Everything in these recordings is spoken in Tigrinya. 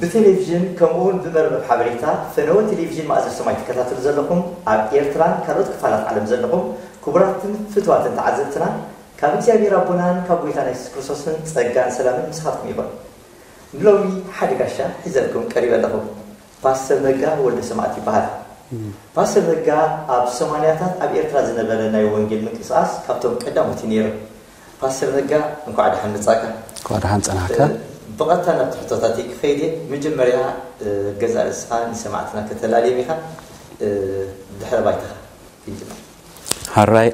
ብቴሌቪዥን ከምኡውን ብመርበብ ሓበሬታ ፈነወ ቴሌቪዥን ማእዘር ሰማይ ትከታተሉ ዘለኹም ኣብ ኤርትራን ካልኦት ክፋላት ዓለም ዘለኹም ክቡራትን ፍትዋትን ተዓዘብትና ካብ እግዚኣብሔር ኣቦናን ካብ ጎይታና የሱስ ክርስቶስን ጸጋን ሰላምን ምሳኻትኩም ይኹን። ንሎሚ ሓደ ጋሻ ሒዘልኩም ቀሪበ ኣለኹ። ፓስተር ነጋ ወልደ ሰማእት ይበሃል። ፓስተር ነጋ ኣብ ሰማንያታት ኣብ ኤርትራ ዝነበረ ናይ ወንጌል ምንቅስቃስ ካብቶም ቀዳሞት እዩ ነይሩ። ፓስተር ነጋ እንኳዕ ደሓን መጻእካ። እንኳዕ ደሓን ጸናሕካ። ብቐጥታ ናብ ትሕቶታት ክኸይድ እየ። መጀመርያ ገዛ ርእስኻ ንሰማዕትና ከተላልዮም ኢኻ። ድሕረ ባይታኻ ክንጅምር። ሓራይ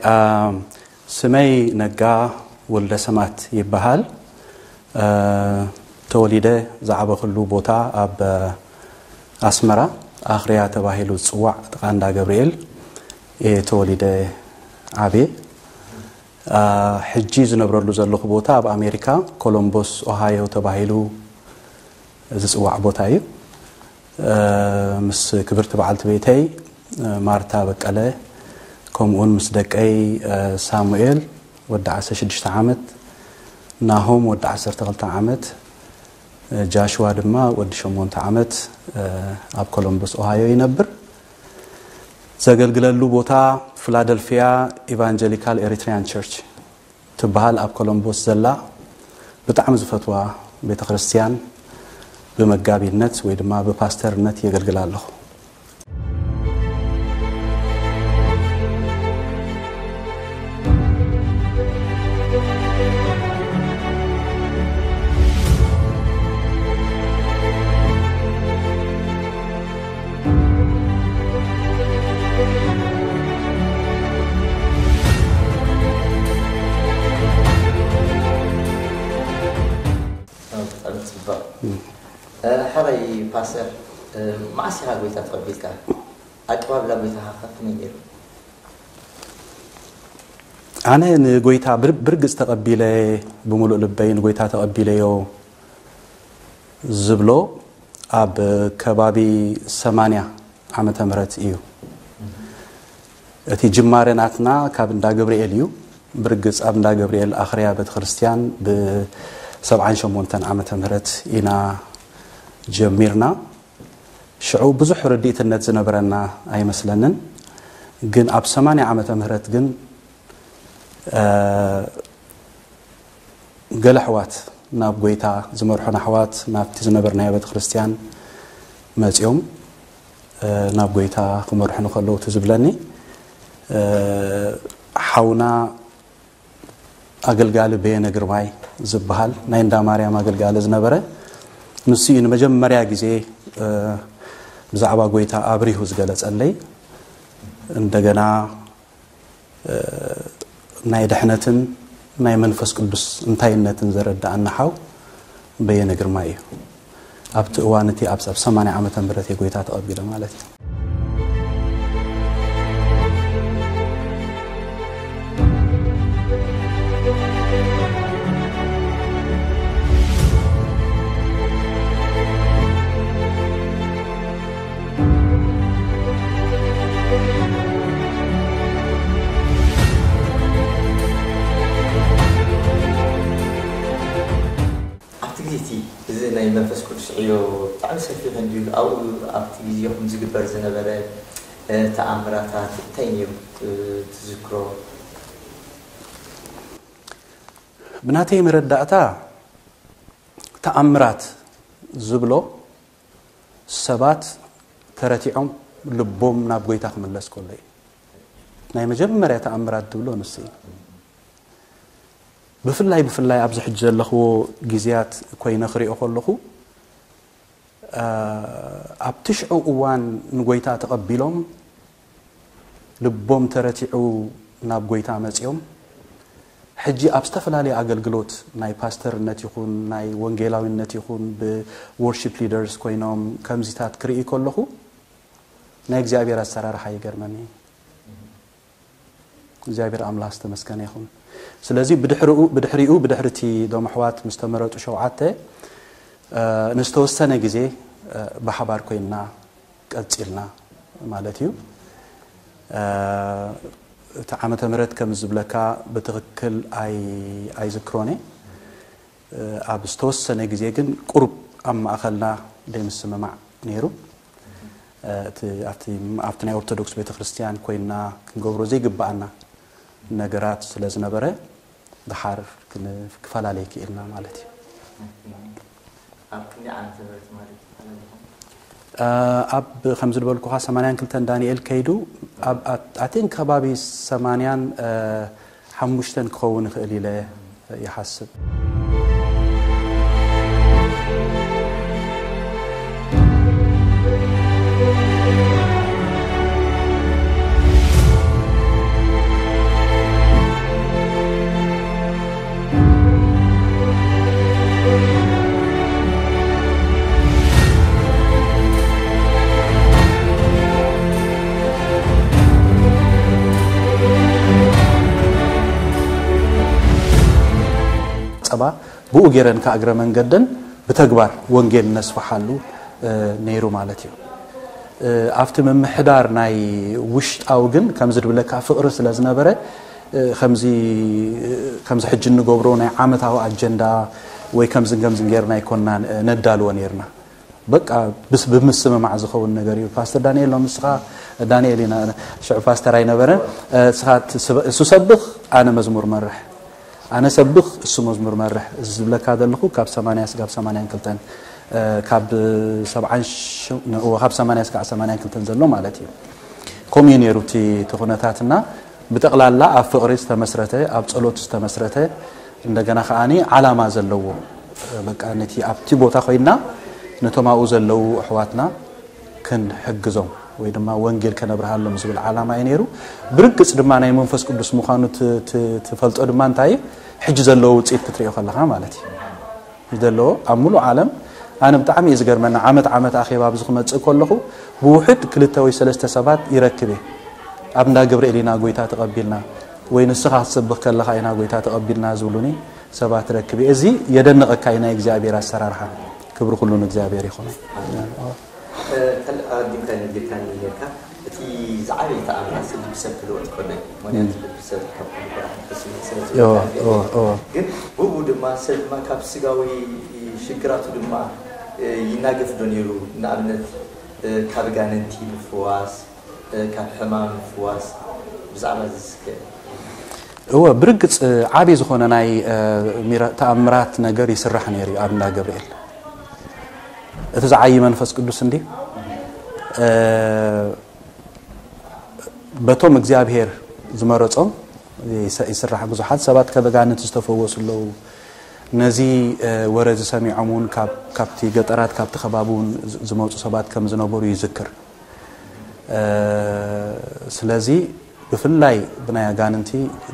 ስመይ ነጋ ወልደ ሰማት ይበሃል። ተወሊደ ዝዓበኽሉ ቦታ ኣብ ኣስመራ ኣኽርያ ተባሂሉ ዝፅዋዕ ጥቓ እንዳ ገብርኤል እየ ተወሊደ ዓብየ። ሕጂ ዝነብረሉ ዘለኹ ቦታ ኣብ ኣሜሪካ ኮሎምቦስ ኦሃዮ ተባሂሉ ዝፅዋዕ ቦታ እዩ። ምስ ክብርቲ በዓልቲ ቤተይ ማርታ በቀለ ከምኡውን ምስ ደቀይ ሳሙኤል ወዲ ዓሰርተ ሽዱሽተ ዓመት፣ ናሆም ወዲ ዓሰርተ ክልተ ዓመት፣ ጃሽዋ ድማ ወዲ ሸሞንተ ዓመት ኣብ ኮሎምበስ ኦሃዮ ይነብር። ዘገልግለሉ ቦታ ፊላደልፊያ ኢቫንጀሊካል ኤሪትሪያን ቸርች ትበሃል ኣብ ኮሎምቦስ ዘላ ብጣዕሚ ዝፈትዋ ቤተ ክርስቲያን ብመጋቢነት ወይ ድማ ብፓስተርነት የገልግል ኣለኹ። ብጣዕሚ ፅቡቅ። ሓራይ ፓስተር፣ መዓስ ኢኻ ጎይታ ተቐቢልካ? ኣቀባብላ ጎይታኻ ከ ከመይ ነይሩ? ኣነ ንጎይታ ብርግፅ ተቐቢለ፣ ብምሉእ ልበይ ንጎይታ ተቐቢለዮ ዝብሎ ኣብ ከባቢ ሰማንያ ዓመተ ምህረት እዩ። እቲ ጅማረ ናትና ካብ እንዳ ገብርኤል እዩ። ብርግፅ ኣብ እንዳ ገብርኤል ኣኽርያ ቤተክርስትያን ብሰብዓን ሸሞንተን ዓመተ ምህረት ኢና ጀሚርና። ሽዑ ብዙሕ ርድኢትነት ዝነበረና ኣይመስለንን። ግን ኣብ ሰማንያ ዓመተ ምህረት ግን ገለ ኣሕዋት ናብ ጎይታ ዝመርሑና ኣሕዋት ናብቲ ዝነበርናዮ ቤተክርስትያን መጺኦም ናብ ጎይታ ክመርሑኒ ከለዉ እቲ ዝብለኒ ሓውና ኣገልጋሊ በየነ ግርማይ ዝበሃል ናይ እንዳ ማርያም ኣገልጋሊ ዝነበረ ንሱ እዩ ንመጀመርያ ግዜ ብዛዕባ ጎይታ ኣብሪሁ ዝገለጸለይ። እንደገና ናይ ድሕነትን ናይ መንፈስ ቅዱስ እንታይነትን ዘረድኣና ሓው በየነ ግርማይ እዩ። ኣብቲ እዋን እቲ ኣብ ሰማንያ ዓመተ ምህረት እየ ጎይታ ተቐቢለ ማለት እዩ። ኣብቲ ግዜ እቲ እዚ ናይ መንፈስ ቅዱስ ዕዮ ብጣዕሚ ሰፊሕ እንድዩ። ኣብኡ ኣብቲ ግዜኹም ዝግበር ዝነበረ ተኣምራታት እንታይ ነይሩ ትዝክሮ? ብናተይ መረዳእታ ተኣምራት ዝብሎ ሰባት ተረቲዖም ልቦም ናብ ጎይታ ክምለስ ከሎ እዩ። ናይ መጀመርያ ተኣምራት ዝብሎ ንሱ እዩ። ብፍላይ ብፍላይ ኣብዚ ሕጂ ዘለኽዎ ግዜያት ኮይነ ክሪኦ ከለኹ ኣብ ትሽዑ እዋን ንጎይታ ተቐቢሎም ልቦም ተረቲዑ ናብ ጎይታ መጺኦም ሕጂ ኣብ ዝተፈላለየ ኣገልግሎት ናይ ፓስተርነት ይኹን ናይ ወንጌላዊነት ይኹን ብ worship leaders ኮይኖም ከምዚታት ክርኢ ከለኹ ናይ እግዚኣብሔር ኣሰራርሓ ይገርመኒ። እግዚኣብሔር ኣምላኽ ዝተመስገነ ይኹን። ስለዚ ብድሕሪኡ ብድሕሪኡ ብድሕሪ እቲ ዶም ኣሕዋት ምስ ተመረጡ ሸውዓተ ንዝተወሰነ ግዜ ብሓባር ኮይንና ቀጺልና ማለት እዩ። እቲ ዓመተ ምህረት ከም ዝብለካ ብትኽክል ኣይዝክሮን እየ። ኣብ ዝተወሰነ ግዜ ግን ቁሩብ ኣብ ማእኸልና ዘይምስምማዕ ነይሩ። እቲ ኣብቲ ኣብቲ ናይ ኦርቶዶክስ ቤተክርስትያን ኮይና ክንገብሮ ዘይግባኣና ነገራት ስለ ዝነበረ ድሓር ክፈላለይ ክኢልና ማለት እዩ። ኣብ ክንደይ ዓመተ ምህረት ማለት ይባላል? ኣብ ከምዚ ዝበልኩኻ ሰማንያን ክልተን ዳንኤል ከይዱ ኣብ ኣቴን ከባቢ ሰማንያን ሓሙሽተን ክኸውን ይኽእል ኢለ ይሓስብ። ጸባ ብኡ ገይረን ከኣ እግረ መንገደን ብተግባር ወንጌል ነስፍሓሉ ነይሩ ማለት እዩ። ኣብቲ ምምሕዳር ናይ ውሽጣዊ ግን ከምዚ ድብለካ ፍቕሪ ስለ ዝነበረ ከምዚ ከምዚ ሕጂ እንገብሮ ናይ ዓመታዊ ኣጀንዳ ወይ ከምዝን ከምዝን ጌርና ኣይኮንና ነዳልዎ ነይርና። በቃ ብስ ብምስምማዕ ዝኸውን ነገር እዩ። ፓስተር ዳንኤል ሎም ንስኻ ዳንኤል ኢና ሽዑ ፓስተር ኣይነበረን። ንስኻ እሱ ሰብኽ ኣነ መዝሙር መርሕ ኣነ ሰብኽ እሱ መዝሙር መርሕ እዚ ዝብለካ ዘለኹ ካብ ሰማንያ ስጋብ ሰማንያን ክልተን ካብ ሰብዓን ካብ ሰማንያ ስጋብ ሰማንያን ክልተን ዘሎ ማለት እዩ። ከምኡ እዩ ነይሩ እቲ ኩነታትና ብጠቕላላ ኣብ ፍቕሪ ዝተመስረተ ኣብ ጸሎት ዝተመስረተ እንደገና ከዓኒ ዓላማ ዘለዎ በቃ ነቲ ኣብቲ ቦታ ኮይና ነቶም ኣብኡ ዘለዉ ኣሕዋትና ክንሕግዞም ወይ ድማ ወንጌል ከነብርሃሎም ዝብል ዓላማ እዩ ነይሩ። ብርግጽ ድማ ናይ መንፈስ ቅዱስ ምዃኑ ትፈልጦ ድማ እንታይ እዩ ሕጂ ዘለዎ ውፅኢት ክትሪኦ ከለኻ ማለት እዩ ዘለዎ ኣብ ሙሉእ ዓለም ኣነ ብጣዕሚ እዩ ዝገርመና ዓመት ዓመት ኣኼባ ኣብዚ ክመፅእ ከለኹ ብውሕድ ክልተ ወይ ሰለስተ ሰባት ይረክብ እየ ኣብ እንዳ ገብርኤል ኢና ጎይታ ተቐቢልና ወይ ንስኻ ክትሰብኽ ከለኻ ኢና ጎይታ ተቐቢልና ዝብሉኒ ሰባት ረክብ እየ እዚ የደንቐካ እዩ ናይ እግዚኣብሔር ኣሰራርሓ ክብሪ ኩሉ ንእግዚኣብሔር ይኹን ካልእ ኣዲምካ ነጊርካኒ ነርካ እቲ ዝዓበየ ተኣምራት ልቢ ሰብ ክልወጥ ከሎ እዩ ምክንያቱ ልቢ ሰብ ካብ ኩሉ ብርሃን ተስሚት ስለ ዝወጣ ግን ብኡ ድማ ሰብ ድማ ካብ ስጋዊ ሽግራቱ ድማ ይናገፍ ዶ ነይሩ ንኣብነት ካብ ጋንንቲ ምፍዋስ ካብ ሕማም ምፍዋስ ብዛዕባ እዚ እስከ እወ ብርግጽ ዓቢ ዝኾነ ናይ ተኣምራት ነገር ይስራሕ ነይሩ ኣብ እንዳ ገብርኤል እቲ ዝዓይ መንፈስ ቅዱስ እንዲ በቶም እግዚኣብሔር ዝመረጾም ይስራሕ ብዙሓት ሰባት ከበጋንት ዝተፈወሱ ኣለዉ ነዚ ወረ ዝሰሚዖም እውን ካብቲ ገጠራት ካብቲ ከባቢ እውን ዝመፁ ሰባት ከም ዝነበሩ ይዝክር ስለዚ ብፍላይ ብናይ ኣጋንንቲ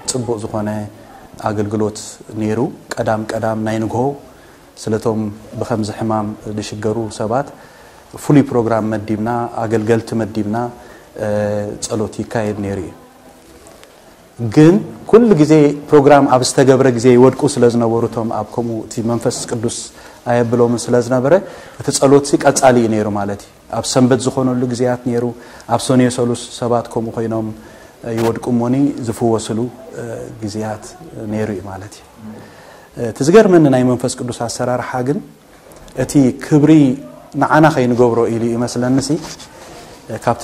ጽቡቕ ዝኾነ ኣገልግሎት ነይሩ። ቀዳም ቀዳም ናይ ንግሆ ስለቶም ብኸምዚ ሕማም ዝሽገሩ ሰባት ፍሉይ ፕሮግራም መዲብና፣ ኣገልገልቲ መዲብና ጸሎት ይካየድ ነይሩ እዩ። ግን ኩሉ ግዜ ፕሮግራም ኣብ ዝተገብረ ግዜ ይወድቁ ስለ ዝነበሩ እቶም ኣብ ከምኡ እቲ መንፈስ ቅዱስ ኣየብሎምን ስለ ዝነበረ እቲ ጸሎትሲ ቀጻሊ እዩ ነይሩ ማለት እዩ። ኣብ ሰንበት ዝኾነሉ ግዜያት ነይሩ ኣብ ሰኑየ ሰሉስ ሰባት ከምኡ ኮይኖም ይወድቁ እሞኒ ዝፍወስሉ ግዜያት ነይሩ እዩ ማለት እዩ እቲ ዝገርመኒ ናይ መንፈስ ቅዱስ ኣሰራርሓ ግን እቲ ክብሪ ንዓና ከይንገብሮ ኢሉ ይመስለንሲ ካብቲ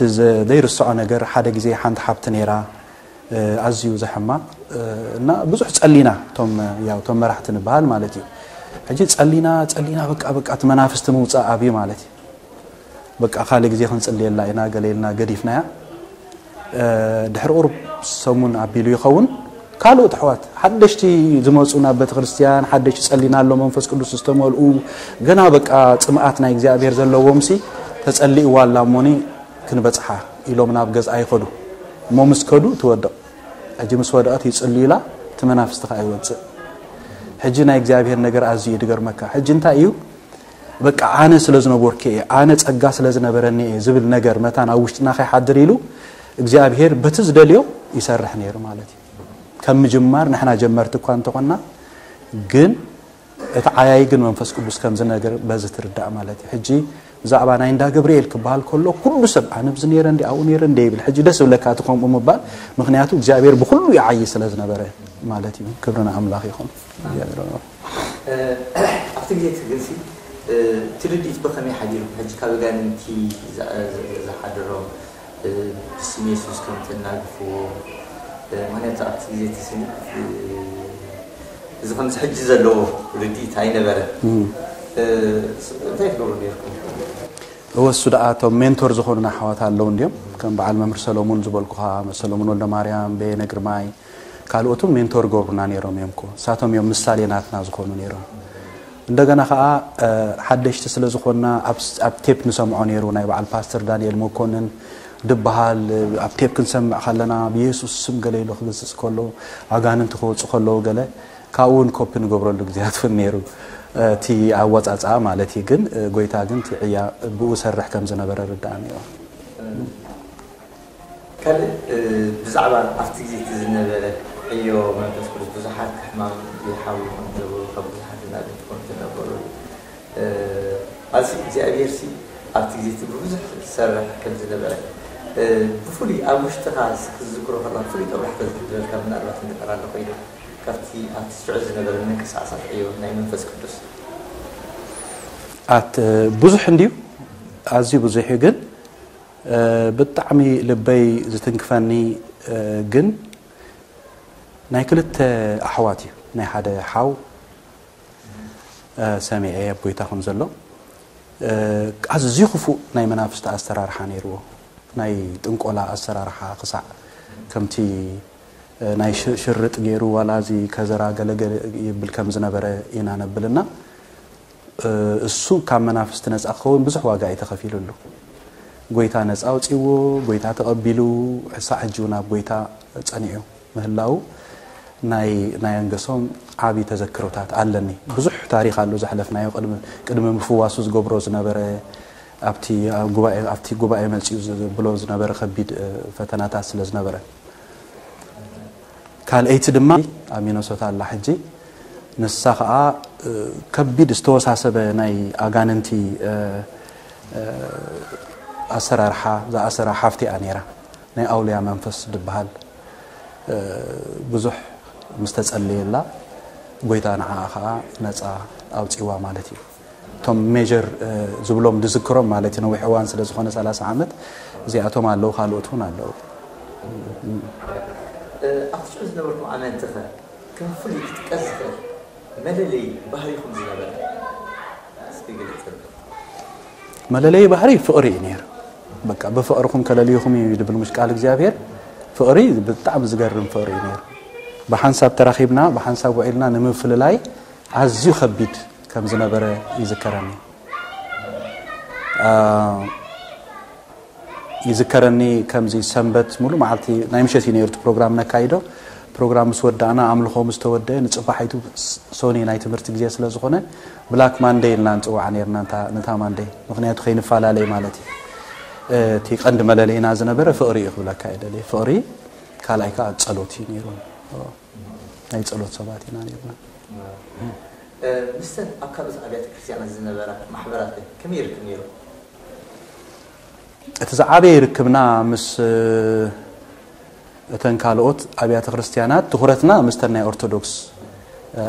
ዘይርስዖ ነገር ሓደ ግዜ ሓንቲ ሓብቲ ነይራ ኣዝዩ ዘሕማ እና ብዙሕ ጸሊና እቶም ያው እቶም መራሕቲ ንበሃል ማለት እዩ ሕጂ ጸሊና ጸሊና በቃ በቃ እቲ መናፍስቲ ምውጻእ ኣብዩ ማለት እዩ በቃ ካልእ ግዜ ክንጽልየላ ኢና ገለ ኢልና ገዲፍናያ ድሕሪ ቁሩብ ሰሙን ኣቢሉ ይኸውን ካልኦት ኣሕዋት ሓደሽቲ ዝመፁ ናብ ቤተክርስትያን ሓደሽቲ ጸሊና ኣሎ መንፈስ ቅዱስ ዝተመልኡ ገና በቃ ጽምኣት ናይ እግዚኣብሔር ዘለዎም ሲ ተጸሊእዋ ኣላ እሞኒ ክንበጽሓ ኢሎም ናብ ገዝኣ ይኸዱ እሞ ምስ ከዱ ትወድቕ ሕጂ ምስ ወደቐት ይጽልዩላ እቲ መናፍስቲ ከዓ ይወፅእ ሕጂ ናይ እግዚኣብሔር ነገር ኣዝዩ እዩ ድገርመካ ሕጂ እንታይ እዩ በቃ ኣነ ስለ ዝነበርኩ እየ ኣነ ጸጋ ስለ ዝነበረኒ እየ ዝብል ነገር መታን ኣብ ውሽጥና ከይሓድር ኢሉ እግዚኣብሔር በቲ ዝደልዮ ይሰርሕ ነይሩ ማለት እዩ ከም ምጅማር ንሕና ጀመርቲ እኳ እንተኾና ግን እቲ ዓያይ ግን መንፈስ ቅዱስ ከም ዝነገር በዚ ትርዳእ ማለት እዩ ሕጂ ብዛዕባ ናይ እንዳ ገብርኤል ክበሃል ከሎ ኩሉ ሰብ ኣነ ብዚ ነይረ እንዲ ኣብኡ ነይረ እንደ ይብል ሕጂ ደስ ብለካ እቲ ከምኡ ምባል ምክንያቱ እግዚኣብሔር ብኩሉ ይዓይ ስለ ዝነበረ ማለት እዩ ክብሪ ንኣምላኽ ይኹን እግዚኣብሔር ኣምላኽ ኣብቲ ግዜ እቲ ግንሲ እቲ ርድኢት ብኸመይ ሓዲሩ? ሕጂ ካብ ኣጋንንቲ ዝሓደሮም ብስም የሱስ ከም ተናግፍዎ፣ ምክንያቱ ኣብቲ ግዜ እቲ ስም እዚ ከምዚ ሕጂ ዘለዎ ርድኢት ኣይነበረን። እንታይ ትገብሩ ነርኩም? እወሱ ደኣ እቶም ሜንቶር ዝኾኑና ኣሕዋት ኣለዉ እንድዮም፣ ከም በዓል መምህር ሰሎሙን ዝበልኩኻ፣ ሰሎሙን ወልደማርያም፣ በየነ ግርማይ፣ ካልኦትን ሜንቶር ገብሩና ነይሮም እዮም እኮ። ንሳቶም እዮም ምሳሌ ናትና ዝኾኑ ነይሮም። እንደገና ከዓ ሓደሽቲ ስለ ዝኾንና ኣብ ቴፕ ንሰምዖ ነይሩ፣ ናይ በዓል ፓስተር ዳንኤል መኮንን ድበሃል ኣብ ቴፕ ክንሰምዕ ከለና ብየሱስ ስም ገለ ኢሉ ክግስፅ ከሎ፣ ኣጋንንቲ ክወፁ ከለዉ ገለ ካብኡ እውን ኮፒ ንገብረሉ ግዜያት እውን ነይሩ። እቲ ኣወፃፅኣ ማለት እዩ። ግን ጎይታ ግን እቲ ዕያ ብኡ ሰርሕ ከም ዝነበረ ርዳእ ነይሩ። ካልእ ብዛዕባ ኣብቲ ግዜ እቲ ዝነበረ ዕዮ መንፈስ ቅዱስ ብዙሓት ሕማም ይሓውዩ ከም ዝነበሩ ካብ ብዙሓት እናገድኩም ትነበሩ ኣዚ እግዚኣብሔር ሲ ኣብቲ ግዜ እቲ ብብዙሕ ዝሰርሕ ከም ዝነበረ ብፍሉይ ኣብ ውሽጥኻ ክዝክሮ ከለካ ፍሉይ ጠብራሕ ተዝሕድረልካ ምናልባት እንድሕር ኣሎ ኮይኑ ካብቲ ኣብቲ ሽዑ ዝነበረ ምንቅስቃሳት ዕዮ ናይ መንፈስ ቅዱስ ኣት ብዙሕ እንድዩ ኣዝዩ ብዙሕ እዩ ግን ብጣዕሚ ልበይ ዝትንክፈኒ ግን ናይ ክልተ ኣሕዋት እዩ ናይ ሓደ ሓው ሰሚዐ ኣብ ጎይታ ከም ዘሎ ኣዝዩ ክፉእ ናይ መናፍስቲ ኣሰራርሓ ነይርዎ ናይ ጥንቆላ ኣሰራርሓ ክሳዕ ከምቲ ናይ ሽርጥ ገይሩ ዋላ እዚ ከዘራ ገለገለ ይብል ከም ዝነበረ ኢና ነብልና እሱ ካብ መናፍስቲ ነፃ ክኸውን ብዙሕ ዋጋ እዩ ተኸፊሉሉ ጎይታ ነፃ ኣውፂዎ ጎይታ ተቐቢሉ ሕሳዕ ሕጂ እውን ኣብ ጎይታ ፀኒዑ ምህላው ናይ ናይ ኣንገሶም ዓቢ ተዘክሮታት ኣለኒ ብዙሕ ታሪክ ኣሎ ዘሕለፍናዮ ቅድሚ ምፍዋሱ ዝገብሮ ዝነበረ ኣብቲ ጉባኤ ኣብቲ ጉባኤ መፅኡ ዝብሎ ዝነበረ ከቢድ ፈተናታት ስለ ዝነበረ ካልኣይቲ ድማ ኣብ ሚነሶታ ኣላ ሕጂ ንሳ ከዓ ከቢድ ዝተወሳሰበ ናይ ኣጋንንቲ ኣሰራርሓ ዝኣሰራ ሓፍቲ እያ ነይራ ናይ ኣውልያ መንፈስ ዝበሃል ብዙሕ ምስ ተጸለየላ ጎይታ ንዓኣ ከዓ ነፃ ኣውፂዋ ማለት እዩ እቶም ሜጀር ዝብሎም ዝዝክሮም ማለት እዩ ነዊሕ እዋን ስለ ዝኾነ ሰላሳ ዓመት እዚኣቶም ኣለዉ ካልኦት እውን ኣለዉ ኣብቲ ሽዑ ዝነበርኩም ኣመንቲ ከ ከም ፍሉይ ክጥቀስ ዝኽእል መለለይ ባህሪኹም ዝነበረ እስኪ ግለፀልና መለለይ ባህሪ ፍቕሪ እዩ ነይሩ በቃ ብፍቕርኹም ከለልይኹም እዩ ዝብል ምሽ ቃል እግዚኣብሔር ፍቕሪ ብጣዕሚ ዝገርም ፍቕሪ እዩ ነይሩ ብሓንሳብ ተራኺብና ብሓንሳብ ውዒልና ንምፍልላይ ኣዝዩ ከቢድ ከም ዝነበረ ይዝከረኒ ይዝከረኒ ከምዚ ሰንበት ሙሉ መዓልቲ ናይ ምሸት እዩ ነይሩ ፕሮግራም ነካይዶ ፕሮግራም ምስ ወዳእና ኣምልኾ ምስ ተወደ ንፅባሒቱ ሶኒ ናይ ትምህርቲ ግዜ ስለ ዝኾነ ብላክ ማንደይ ኢልና ንፅዋዓ ነርና ነታ ማንደይ ምክንያቱ ከይንፈላለይ ማለት እዩ እቲ ቀንዲ መለለይና ዝነበረ ፍቕሪ እዩ ክብለካ ይደሊ ፍቕሪ ካልኣይ ከዓ ፀሎት እዩ ነይሩ ናይ ጸሎት ሰባት ኢና ነርና። ምስተን ኣብ ካልኦት ኣብያተ ክርስትያናት ዝነበራ ማሕበራት ከ ከመይ ይርክብ ነይሩ? እቲ ዝዓበየ ርክብና ምስ እተን ካልኦት ኣብያተ ክርስትያናት ትኹረትና ምስተን ናይ ኦርቶዶክስ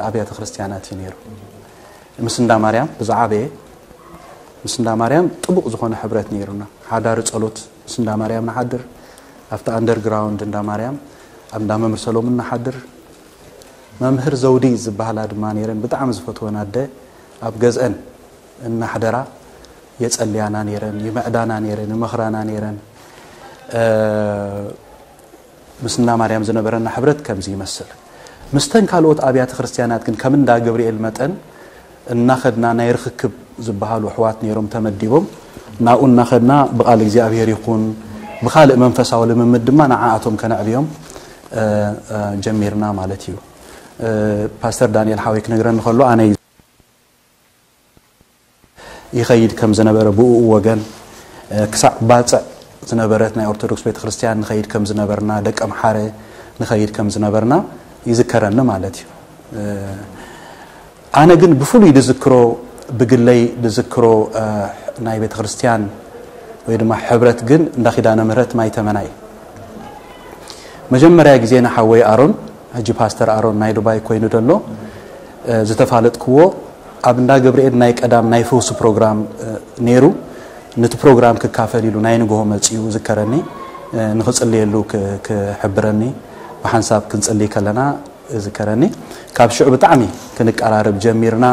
ኣብያተ ክርስትያናት እዩ ነይሩ። ምስ እንዳ ማርያም ብዝዓበየ ምስ እንዳ ማርያም ጥቡቕ ዝኾነ ሕብረት ነይሩና። ሓዳሪ ጸሎት ምስ እንዳ ማርያም ንሓድር ኣብቲ ኣንደርግራውንድ እንዳ ማርያም ኣብ እንዳ መምህር ሰሎሙን ንሓድር መምህር ዘውዲ ዝበሃላ ድማ ነይረን ብጣዕሚ ዝፈትወን ኣደ ኣብ ገዝአን እናሕደራ የጸልያና ነይረን ይምዕዳና ነይረን ይመኽራና ነይረን ምስና ማርያም ዝነበረና ሕብረት ከምዚ ይመስል ምስተን ካልኦት ኣብያተ ክርስትያናት ግን ከም እንዳ ገብርኤል መጠን እናኸድና ናይ ርኽክብ ዝበሃሉ ኣሕዋት ነይሮም ተመዲቦም ናብኡ እናኸድና ብቓል እግዚኣብሔር ይኹን ብኻልእ መንፈሳዊ ልምምድ ድማ ንዓኣቶም ከነዕብዮም ጀሚርና ማለት እዩ ፓስተር ዳንኤል ሓወይ ክነግረኒ ከሎ ኣነ ይኸይድ ከም ዝነበረ ብኡ ወገን ክሳዕ ባፅዕ ዝነበረት ናይ ኦርቶዶክስ ቤተክርስትያን ንኸይድ ከም ዝነበርና ደቀ ምሓረ ንኸይድ ከም ዝነበርና ይዝከረኒ ማለት እዩ ኣነ ግን ብፍሉይ ድዝክሮ ብግለይ ድዝክሮ ናይ ቤተክርስትያን ወይ ድማ ሕብረት ግን እንዳ ኪዳነ ምህረት ማይተመና እዩ መጀመርያ ግዜ ንሓወይ ኣሮን ሕጂ ፓስተር ኣሮን ናይ ዱባይ ኮይኑ ደሎ ዝተፋለጥክዎ ኣብ እንዳ ገብርኤል ናይ ቀዳም ናይ ፈውሲ ፕሮግራም ነይሩ። ነቲ ፕሮግራም ክካፈል ኢሉ ናይ ንግሆ መጺኡ ዝከረኒ፣ ንኽጽልየሉ ክሕብረኒ ብሓንሳብ ክንጽልይ ከለና ዝከረኒ። ካብ ሽዑ ብጣዕሚ ክንቀራረብ ጀሚርና።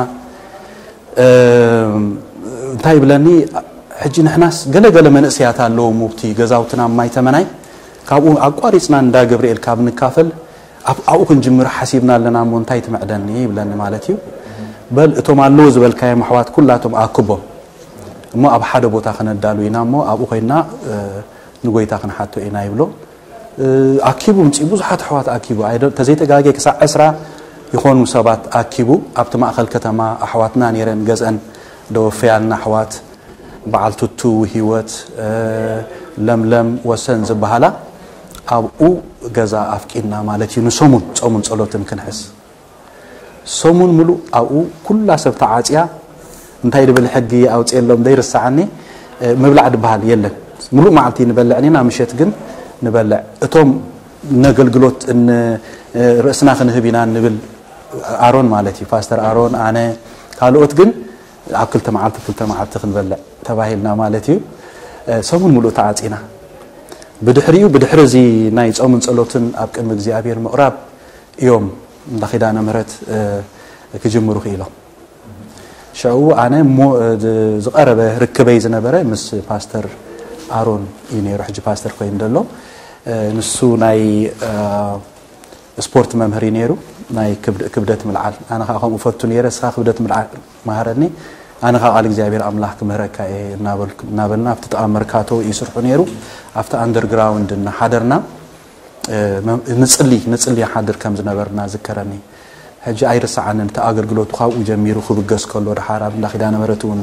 እንታይ ይብለኒ፣ ሕጂ ንሕናስ ገለገለ መንእሰያት ኣለዉ፣ ሙብቲ ገዛውትና ማይ ተመናይ፣ ካብኡ ኣቋሪፅና እንዳ ገብርኤል ካብ ንካፈል ኣብኡ ክንጅምር ሓሲብና ኣለና፣ እሞ እንታይ ትምዕደኒ ይብለኒ ማለት እዩ። በል እቶም ኣለዉ ዝበልካዮም ኣሕዋት ኩላቶም ኣክቦም፣ እሞ ኣብ ሓደ ቦታ ከነዳሉ ኢና፣ እሞ ኣብኡ ኮይና ንጎይታ ክንሓቶ ኢና ይብሎ። ኣኪቡ ምፅኡ፣ ብዙሓት ኣሕዋት ኣኪቡ፣ ተዘይተጋጌ ክሳብ ዕስራ ይኾኑ ሰባት ኣኪቡ። ኣብቲ ማእኸል ከተማ ኣሕዋትና ነይረን፣ ገዝአን ደወፈያልና ኣሕዋት፣ በዓል ቱቱ፣ ህይወት፣ ለምለም፣ ወሰን ዝበሃላ ኣብኡ ገዛ ኣፍቂድና ማለት እዩ። ንሰሙን ጾምን ጸሎትን ክንሕስ ሰሙን ምሉእ ኣብኡ ኩላ ሰብ ተዓጽያ። እንታይ ድብል ሕጊ ኣውፅኤሎም ዘይርሳዓኒ፣ ምብላዕ ድበሃል የለን። ምሉእ መዓልቲ ንበልዕ ኔና፣ ምሸት ግን ንበልዕ። እቶም ነገልግሎት ርእስና ክንህብ ኢና ንብል፣ ኣሮን ማለት እዩ፣ ፓስተር ኣሮን፣ ኣነ፣ ካልኦት ግን ኣብ ክልተ መዓልቲ ክልተ መዓልቲ ክንበልዕ ተባሂልና ማለት እዩ። ሰሙን ምሉእ ተዓፂና። ብድሕሪኡ፣ ብድሕሪ እዚ ናይ ጾምን ጸሎትን ኣብ ቅድሚ እግዚኣብሔር ምቕራብ እዮም እንዳ ኪዳነ ምህረት ክጅምሩ ክኢሎም። ሽዑ ኣነ ዝቐረበ ርክበይ ዝነበረ ምስ ፓስተር ኣሮን እዩ ነይሩ፣ ሕጂ ፓስተር ኮይኑ ዘሎ። ንሱ ናይ ስፖርት መምህር እዩ ነይሩ፣ ናይ ክብደት ምልዓል። ኣነ ከዓ ከምኡ ፈቱ ነይረ፣ እስኻ ክብደት ምልዓል መሃረኒ፣ ኣነ ከዓ ቃል እግዚኣብሔር ኣምላኽ ክምህረካ እየ እናበልና ኣብቲ ጥቓ መርካቶ ይስርሑ ነይሩ። ኣብቲ ኣንደርግራውንድ እናሓደርና ንፅሊ ንፅሊ ሓድር ከም ዝነበርና ዝከረኒ። ሕጂ ኣይርሳዓንን፣ እቲ ኣገልግሎቱ ካብኡ ጀሚሩ ክብገስ ከሎ፣ ድሓር ኣብ እንዳ ኪዳነ ምህረት እውን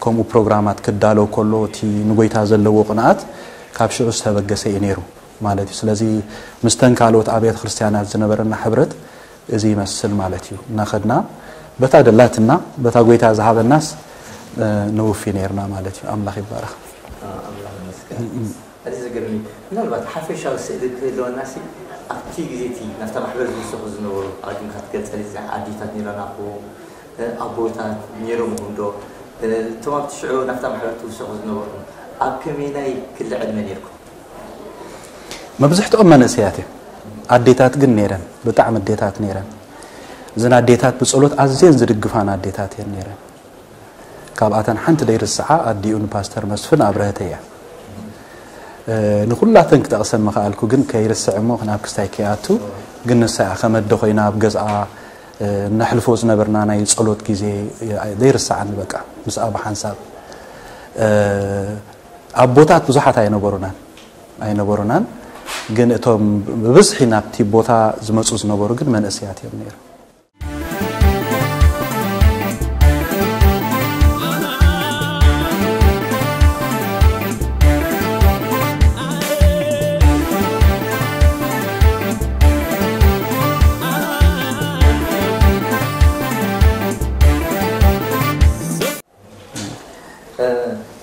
ከምኡ ፕሮግራማት ክዳለው ከሎ፣ እቲ ንጎይታ ዘለዎ ቅንኣት ካብ ሽዑ ዝተበገሰ እዩ ነይሩ ማለት እዩ። ስለዚ ምስተን ካልኦት ኣብያተ ክርስቲያናት ዝነበረና ሕብረት እዚ ይመስል ማለት እዩ። እናኸድና በታ ደላትና በታ ጎይታ ዝሃበናስ ንውፊ ነይርና ማለት እዩ። ኣምላኽ ይባረኽ። ኣምላኽ ይመስገን። ኣዝዩ ዘገርም እዩ። ምናልባት ሓፈሻዊ ስእሊ ክህልወና ሲ ኣብቲ ግዜ እቲ ናብታ ማሕበር ዝውሰኹ ዝነበሩ ኣቅዲምካ ትገልጸሊ፣ እዚ ኣዴታት ነይረና ክኸውን፣ ኣቦታት ነይሮም ይኹን ዶ፣ እቶም ኣብቲ ሽዑ ናብታ ማሕበር ትውሰኹ ዝነበርኩም ኣብ ከመይናይ ክሊ ዕድመ ነይርኩም? መብዝሕትኦም መንእሰያት እዮም። ኣዴታት ግን ነይረን፣ ብጣዕሚ ኣዴታት ነይረን። እዘን ኣዴታት ብጸሎት ኣዝየን ዝድግፋን ኣዴታት እየን ነይረን። ካብኣተን ሓንቲ ደይርስዓ ኣዲኡ ንፓስተር መስፍን ኣብረሀተ እያ። ንኩላተን ክጠቕሰን ምኽኣልኩ፣ ግን ከይርስዕ እሞ ናብ ክስታይ ከይኣቱ፣ ግን ንሳ እያ ከም ኣደ ኮይና ኣብ ገዝኣ ነሕልፎ ዝነበርና ናይ ጸሎት ግዜ ዘይርሳዓኒ። በቃ ምስኣ ብሓንሳብ ኣቦታት ብዙሓት ኣይነበሩናን ኣይነበሩናን፣ ግን እቶም ብብዝሒ ናብቲ ቦታ ዝመጹ ዝነበሩ ግን መንእሰያት እዮም ነይሮም።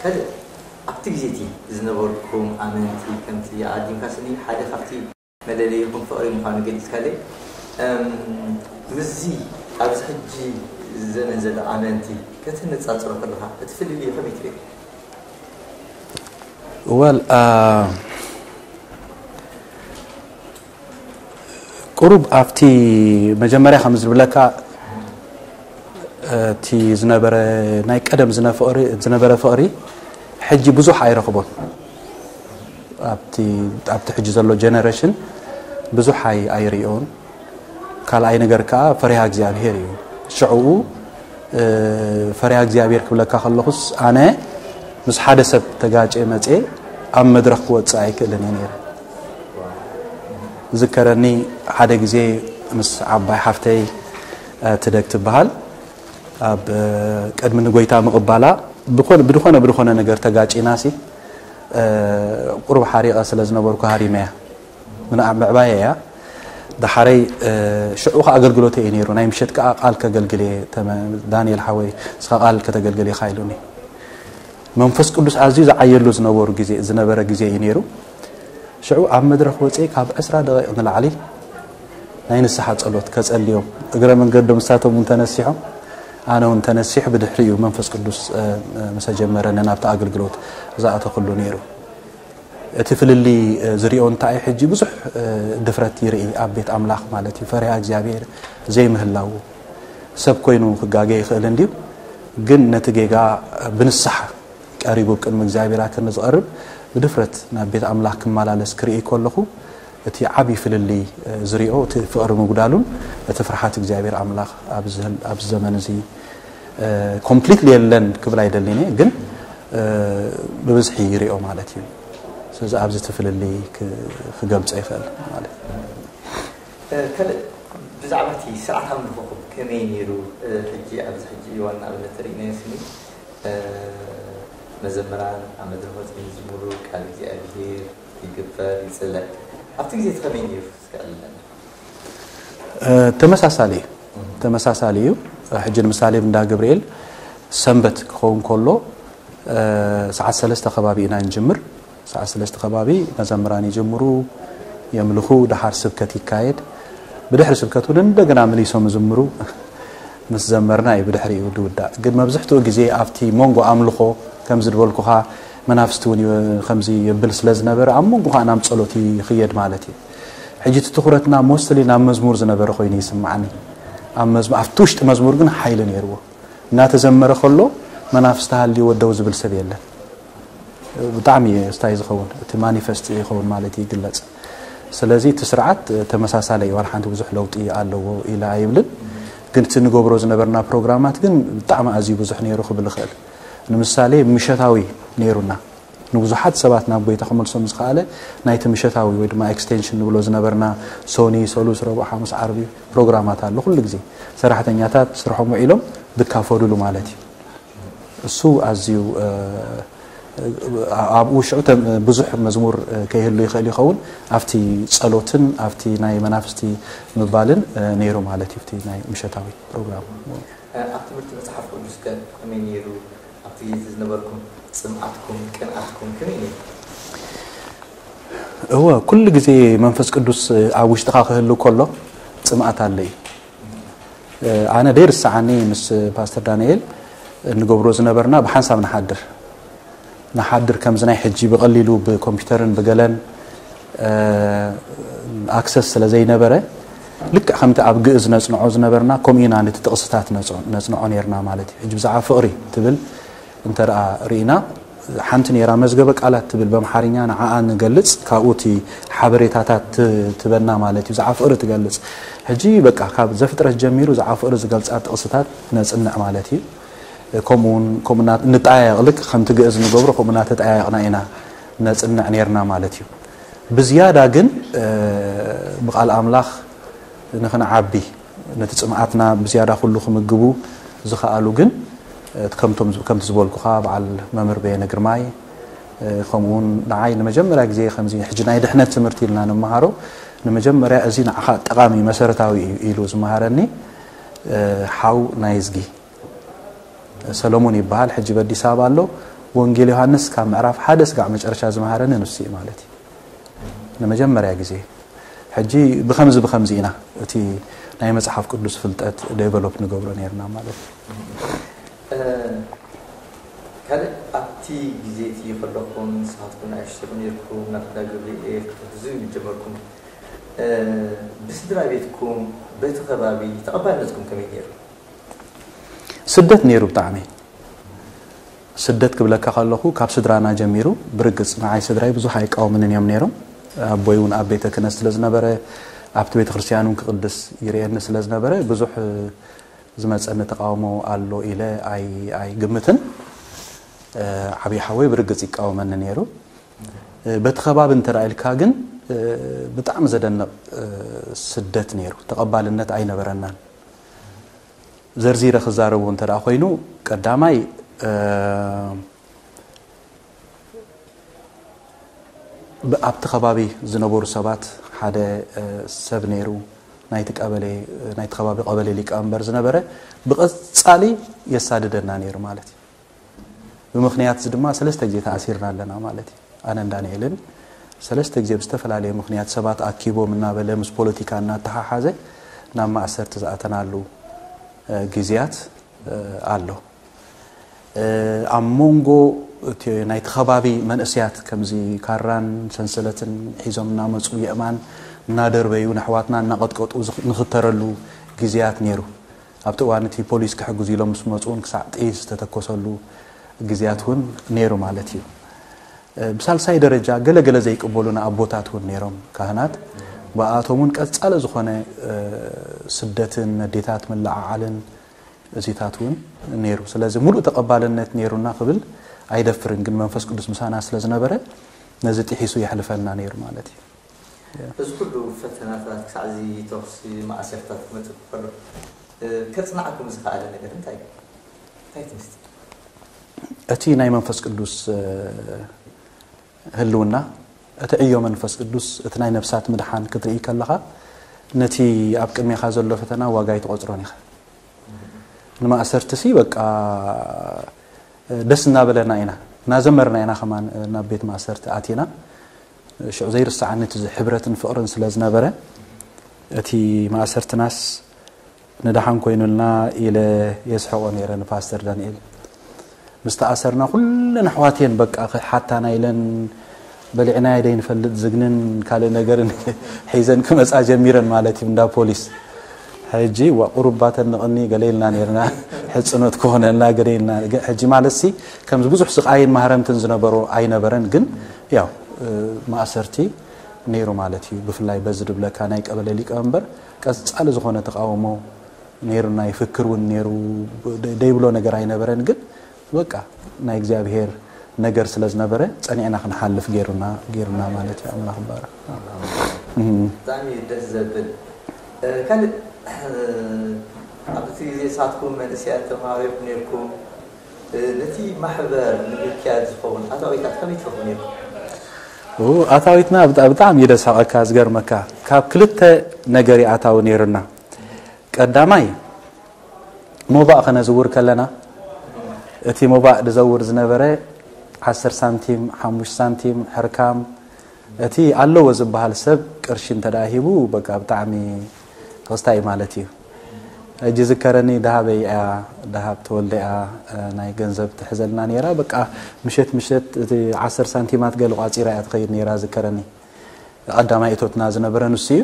ካልእ ኣብቲ ግዜ እቲ ዝነበርኩም ኣመንቲ ከምቲ ኣቐዲምካ ስኒ ሓደ ካብቲ መለለይኹም ፍቕሪ ምዃኑ ገሊጽካለይ። ምስዚ ኣብዚ ሕጂ ዘመን ዘሎ ኣመንቲ ከተነጻጽሮ ከለኻ እቲ ፍልልዩ ከመይ ትርእዮ? ወል ቁሩብ ኣብቲ መጀመርያ ከም ዝብለካ እቲ ዝነበረ ናይ ቀደም ዝነበረ ፍቕሪ ሕጂ ብዙሕ ኣይረኽቦን። ኣብቲ ሕጂ ዘሎ ጀነሬሽን ብዙሕ ኣይርእዮን። ካልኣይ ነገር ከዓ ፈሪሃ እግዚኣብሄር እዩ። ሽዕኡ ፈሪሃ እግዚኣብሄር ክብለካ ከለኹስ ኣነ ምስ ሓደ ሰብ ተጋጨ መፅየ ኣብ መድረኽ ክወፅእ ኣይክእልን እየ ነይረ። ዝከረኒ ሓደ ግዜ ምስ ዓባይ ሓፍተይ ትደግ ትበሃል ኣብ ቅድሚ ንጎይታ ምቕባላ ብድኾነ ብድኾነ ነገር ተጋጪና ሲ ቁሩብ ሓሪቐ ስለ ዝነበርኩ ሃሪመያ። ምዕባየ እያ። ደሓረይ ሽዑ ከ ኣገልግሎተ እዩ ነይሩ፣ ናይ ምሸት ከዓ ቃል ከገልግል እየ። ዳንኤል ሓወይ እስኻ ቃል ከተገልግል ኢኻ ኢሉኒ። መንፈስ ቅዱስ ኣዝዩ ዝዓየሉ ዝነበሩ ግዜ ዝነበረ ግዜ እዩ ነይሩ። ሽዑ ኣብ መድረኽ ወፅኤ ካብ ዕስራ ደቂቕ ንላዕሊ ናይ ንስሓ ጸሎት ከጸልዮም፣ እግረ መንገዶም ንሳቶም እውን ተነሲሖም ኣነ እውን ተነሲሑ ብድሕሪኡ መንፈስ ቅዱስ፣ እ፣ እ፣ ምስ ኣጀመረኒ ናብቲ ኣገልግሎት ዝኣተኹሉ ነይሩ። እቲ ፍልልይ፣ እ፣ ዝሪኦ እንታይ እዩ፣ ሕጂ ብዙሕ፣ እ፣ ድፍረት ይርኢ ኣብ ቤት ኣምላኽ ማለት እዩ። ፈሪሃ እግዚኣብሔር ዘይምህላው። ሰብ ኮይኑ ክጋገ ይኽእል እንድዩ፣ ግን ነቲ ጌጋ ብንስሓ ቀሪቡ ቅድሚ እግዚኣብሔር ኣክን ዝቐርብ ብድፍረት ናብ ቤት ኣምላኽ ክመላለስ ክርኢ ከለኹ፣ እቲ ዓቢ ፍልልይ፣ እ፣ ዝሪኦ እቲ ፍቕሪ ምጉዳሉን እቲ ፍርሓት እግዚኣብሔር ኣምላኽ ኣብዚ ህል-፣ ኣብዚ ዘመን እዚ፣ እ፣ ኮምፕሊትሊ የለን ክብል ኣይደልን እየ፣ ግን፣ እ፣ ብብዝሒ ይሪኦ ማለት እዩ። ስለዚ ኣብዚ እቲ ፍልልይ ክ-፣ ክገልጾ ይኽእል ማለት እዩ። እ፣ ካልእ ብዛዕባ እቲ ስርዓት ኣምልኾኹም ከመይ ነይሩ? እ፣ ሕጂ ኣብዚ ሕጂ እዋን ንኣብነት ርኢናዮ ስኒ፣ እ፣ መዘምራን ኣብ መድረኽ ወጺኦም ይዝምሩ፣ ቃል እግዚኣብሔር ይግበር፣ ይጽለ። ኣብቲ ግዜ እቲ ከመይ ነይሩ? እስከ ኣዕልለና። እ፣ ተመሳሳሊ እዩ። ተመሳሳሊ እዩ። ሕጂ ንምሳሌ እንዳ ገብርኤል ሰንበት ክኸውን ከሎ፣ እ፣ ሰዓት ሰለስተ ከባቢ ኢና ንጅምር። ሰዓት ሰለስተ ከባቢ መዘምራን ይጅምሩ፣ የምልኹ፣ ደሓር ስብከት ይካየድ። ብድሕሪ ስብከት እውን እንደገና መሊሶም ዝምሩ። ምስ ዘመርና እዩ ብድሕሪኡ ዝውዳእ። ግን መብዝሕትኡ ግዜ ኣብቲ መንጎ ኣምልኾ፣ ከምዚ ዝበልኩኻ፣ መናፍስቲ እውን ዩ-፣ ከምዚ የብል ስለ ዝነበረ፣ ኣብ መንጎ ኸኣ ናብ ጸሎት ይኽየድ ማለት እዩ። ሕጂ እቲ ትኹረትና ሞስትሊ ናብ መዝሙር ዝነበረ ኮይኑ ይስምዓኒ። ኣብ መዝሙ-፣ ኣብቲ ውሽጢ መዝሙር ግን ሓይሊ ነይርዎ። እናተዘመረ ከሎ መናፍስቲ ሃልይዎ ደው ዝብል ሰብ የለን። ብጣዕሚ እዩ ስታይ ዝኸውን፣ እቲ ማኒፈስት ይኸውን ማለት እዩ፣ ይግለጽ። ስለዚ እቲ ስርዓት ተመሳሳሊ እዩ፣ ዋላ ሓንቲ ብዙሕ ለውጢ ኣለዎ ኢለ ኣይብልን። ግን እቲ ንገብሮ ዝነበርና ፕሮግራማት ግን ብጣዕሚ ኣዝዩ ብዙሕ ነይሩ ክብል እኽእል። ንምሳሌ ምሸታዊ ነይሩና። ንብዙሓት ሰባት ናብ ጎይታ ክመልሶም ዝኸኣለ ናይቲ ምሸታዊ ወይ ድማ ኤክስቴንሽን ንብሎ ዝነበርና ሶኒ፣ ሰሉስ፣ ረቡዕ፣ ሓሙስ፣ ዓርቢ ፕሮግራማት ኣሎ። ኩሉ ግዜ ሰራሕተኛታት ስርሖም ውዒሎም ዝካፈሉሉ ማለት እዩ። እሱ ኣዝዩ፣ እ፣ ኣብኡ ሽዑ ተ-፣ ብዙሕ መዝሙር፣ እ፣ ከይህሉ ይኽእል ይኸውን። ኣብቲ ጸሎትን ኣብቲ ናይ መናፍስቲ ምባልን፣ እ፣ ነይሩ ማለት እዩ፣ ኣብቲ ናይ ምሸታዊ ፕሮግራም። እ፣ ኣብ ትምህርቲ መጽሓፍ ቅዱስ ከ ከመይ ነይሩ? ኣብቲ ግዜ ዝነበርኩም ጽምኣትኩም፣ ቅንኣትኩም ከመይ ነይሩ? እወ፣ ኩሉ ግዜ መንፈስ ቅዱስ ኣብ ውሽጥኻ ክህሉ ከሎ ጽምኣት ኣሎ እዩ። ኣነ ደይርስዓኒ ምስ ፓስተር ዳንኤል እንገብሮ ዝነበርና ብሓንሳብ ንሓድር። ንሓድር ከምዚ ናይ ሕጂ ብቐሊሉ ብኮምፒውተርን ብገለን፣ እ፣ ኣክሰስ ስለ ዘይነበረ፣ ልክዕ ከምቲ ኣብ ግእዝ ነጽንዖ ዝነበርና፣ ከምኡ ኢና ነቲ ጥቕስታት ነጽ-፣ ነጽንዖ ነይርና ማለት እዩ። ሕጂ ብዛዕባ ፍቕሪ ትብል እንተ ደኣ ርኢና፣ ሓንቲ ነይራ መዝገበ ቃላት ትብል በምሓርኛ፣ ንዓኣ ንገልጽ፣ ካብኡ እቲ ሓበሬታታት ት-፣ ትበና ማለት እዩ። ብዛዕባ ፍቕሪ ትገልጽ። ሕጂ በቃ ካብ ዘፍጥረት ጀሚሩ ብዛዕባ ፍቕሪ ዝገልጻ ጥቕስታት ነጽንዕ ማለት እዩ። ከምኡ እውን፣ ከምኡ እና-፣ ንጠያየቕ፣ ልክ ከምቲ ግእዝ ንገብሮ፣ ከምኡ እናተጠያየቕና ኢና ነጽንዕ ነይርና ማለት እዩ። ብዝያዳ ግን፣ እ፣ ብቓል ኣምላኽ ንኽንዓቢ፣ ነቲ ጽምኣትና ብዝያዳ ኩሉ ክምግቡ ዝኸኣሉ ግን፣ እ፣ ከምቶም፣ ከምቲ ዝበልኩኻ፣ በዓል መምህር በየነ ግርማይ፣ እ፣ ከምኡ እውን ንዓይ ንመጀመርያ ግዜ ከምዚ ሕጂ ናይ ድሕነት ትምህርቲ ኢልና ንመሃሮ፣ ንመጀመርያ እዚ ንዓኻ ጠቓሚ መሰረታዊ እዩ ኢሉ ዝመሃረኒ፣ እ፣ ሓው ናይዝጊ ሰሎሞን ይበሃል። ሕጂ በዲስ ኣበባ ኣሎ። ወንጌል ዮሃንስ ካብ ምዕራፍ ሓደ ስጋዕ መጨረሻ ዝመሃረኒ ንሱ እዩ ማለት እዩ። ንመጀመርያ ግዜ። ሕጂ ብኸምዚ ብኸምዚ ኢና እቲ ናይ መጽሓፍ ቅዱስ ፍልጠት ዴቨሎፕ ንገብሮ ነይርና ማለት እዩ። እ፣ ካልእ ኣብቲ ግዜ እቲ ከለኹም ንስኻትኩም ንኣሽቱ ነይርኩም፣ ናብ እንዳ ገብርኤል ክትሕግዙ ጀመርኩም። እ፣ ብስድራ ቤትኩም፣ በቲ ከባቢ ተቐባልነትኩም ከመይ ነይሩ? ስደት ነይሩ ብጣዕሚ። ስደት ክብለካ ከለኹ፣ ካብ ስድራና ጀሚሩ፣ ብርግጽ ንዓይ ስድራይ ብዙሕ ኣይቃወምንን እዮም ነይሮም። ኣቦይ እውን ኣብ ቤተ ክህነት ስለ ዝነበረ፣ ኣብቲ ቤተ ክርስቲያን እውን ክቕድስ ይርእየኒ ስለ ዝነበረ፣ ብዙሕ ዝመጸኒ ተቃውሞ ኣሎ ኢለ ኣይ-፣ ኣይግምትን። እ፣ ዓብዪ ሓወይ ብርግጽ ይቃወመኒ ነይሩ። እ፣ በቲ ከባቢ እንተ ደኣ ኢልካ ግን፣ እ፣ ብጣዕሚ ዘደንቕ፣ እ፣ ስደት ነይሩ። ተቐባልነት ኣይነበረናን። ዘርዚረ ክዛረቡ እንተ ደኣ ኮይኑ፣ ቀዳማይ፣ እ፣ ብ-፣ ኣብቲ ከባቢ ዝነበሩ ሰባት ሓደ፣ እ፣ ሰብ ነይሩ፣ ናይቲ ቀበሌ፣ ናይቲ ከባቢ ቀበሌ ሊቀመንበር ዝነበረ፣ ብቐጻሊ የሳድደና ነይሩ ማለት እዩ። ብምኽንያት እዚ ድማ ሰለስተ ግዜ ተኣሲርና ኣለና ማለት እዩ። ኣነን ዳንኤልን ሰለስተ ግዜ ብዝተፈላለየ ምኽንያት ሰባት ኣኪቦም እናበለ ምስ ፖለቲካ እናተሓሓዘ ናብ ማእሰርቲ ዝኣተናሉ፣ እ፣ ግዜያት ኣሎ። ኣብ መንጎ እቲ ናይቲ ከባቢ መንእስያት ከምዚ ካራን ሰንሰለትን ሒዞም እናመፁ የእማን እናደርበዩ ንኣሕዋትና እናቐጥቀጡ ንኽተረሉ ግዜያት ነይሩ። ኣብቲ እዋን እቲ ፖሊስ ክሕግዙ ኢሎም ምስ መፁ እውን ክሳዕ ጥይት ዝተተኮሰሉ ግዜያት እውን ነይሩ ማለት እዩ። ብሳልሳይ ደረጃ ገለገለ ዘይቅበሉና ኣቦታት እውን ነይሮም፣ ካህናት። ብኣቶም እውን ቀጻሊ ዝኾነ ስደትን ነዴታት ምልዓዓልን እዚታት እውን ነይሩ። ስለዚ ሙሉእ ተቐባልነት ነይሩና ክብል ኣይደፍርን፣ ግን መንፈስ ቅዱስ ምሳና ስለ ዝነበረ ነዚ ጥሒሱ የሕልፈና ነይሩ ማለት እዩ። እዚ ኩሉ ፈተናታት ክሳዕ እዚ ተኹሲ ማእሰርታት ክመፅእ ከሎ ከፅናዕኩም ዝኸኣለ ነገር እንታይ እንታይ ትምስቲ? እቲ ናይ መንፈስ ቅዱስ ህልውና፣ እቲ ዕዮ መንፈስ ቅዱስ፣ እቲ ናይ ነፍሳት ምድሓን ክትርኢ ከለኻ ነቲ ኣብ ቅድሜኻ ዘሎ ፈተና ዋጋ ኣይትቖፅሮን ኢኻ። ንማእሰርትሲ በቃ ደስ እናበለና ኢና እናዘመርና ኢና ከማን ናብ ቤት ማእሰርቲ ኣቲና። ሽዑ ዘይርስዓኒ እቲ ሕብረትን ፍቕርን ስለ ዝነበረ እቲ ማእሰርትናስ ንደሓን ኮይኑልና ኢለ የስሕቖ ነይረ ንፓስተር ዳንኤል። ምስ ተኣሰርና ኩለን ኣሕዋት እየን በቃ ክሓታና ኢለን በሊዕናዮ ደይንፈልጥ ዝግንን ካልእ ነገርን ሒዘን ክመፃ ጀሚረን ማለት እዩ እንዳ ፖሊስ። ሕጂ ዋ ቁሩብ ባተንቕኒ ገለ ኢልና ነይርና፣ ሕፅኖት ክኾነልና ገለ ኢልና። ሕጂ ማለትሲ ከምዚ ብዙሕ ስቓይን ማህረምትን ዝነበሮ ኣይነበረን፣ ግን ያው ማእሰርቲ ነይሩ ማለት እዩ። ብፍላይ በዚ ድብለካ ናይ ቀበሌ ሊቀመንበር ቀፃሊ ዝኾነ ተቃውሞ ነይሩና፣ ይፍክር እውን ነይሩ፣ ደይብሎ ነገር ኣይነበረን። ግን በቃ ናይ እግዚኣብሔር ነገር ስለ ዝነበረ ጸኒዕና ክንሓልፍ ገይሩና ገይሩና ማለት እዩ። ኣምላኽ ይባረክ። ብጣዕሚ ደስ ዘብል። ካልእ ኣብቲ ግዜ ንሳትኩም መንእሰያት ተማሃሮ ኢኹም ነይርኩም። ነቲ ማሕበር ንምክያድ ዝኸውን ኣታዊታት ከመይ ትረኽቡ ነይርኩም? ኣታዊትና ብጣዕሚ ደሳቐካ ዝገርመካ ካብ ክልተ ነገር ኣታዊ ነይሩና። ቀዳማይ ሞባእ ከነዝውር ከለና እቲ ሞባእ ዝዘውር ዝነበረ ዓሰርተ ሳንቲም፣ ሓሙሽተ ሳንቲም፣ ሕርካም፣ እቲ ኣለዎ ዝበሃል ሰብ ቅርሺ እንተ ደኣ ሂቡ በቃ ብጣዕሚ ተኸስታይ ማለት እዩ። ሕጂ ዝከረኒ ደሃበይ እያ፣ ደሃብ ተወልደ እያ ናይ ገንዘብ ትሕዘልና ነይራ። በቃ ምሸት ምሸት እቲ ዓሰርተ ሳንቲማት ገለ ቋፂራ እያ ትኸይድ ነይራ ዝከረኒ። ቀዳማይ እቶትና ዝነበረ ንሱ እዩ።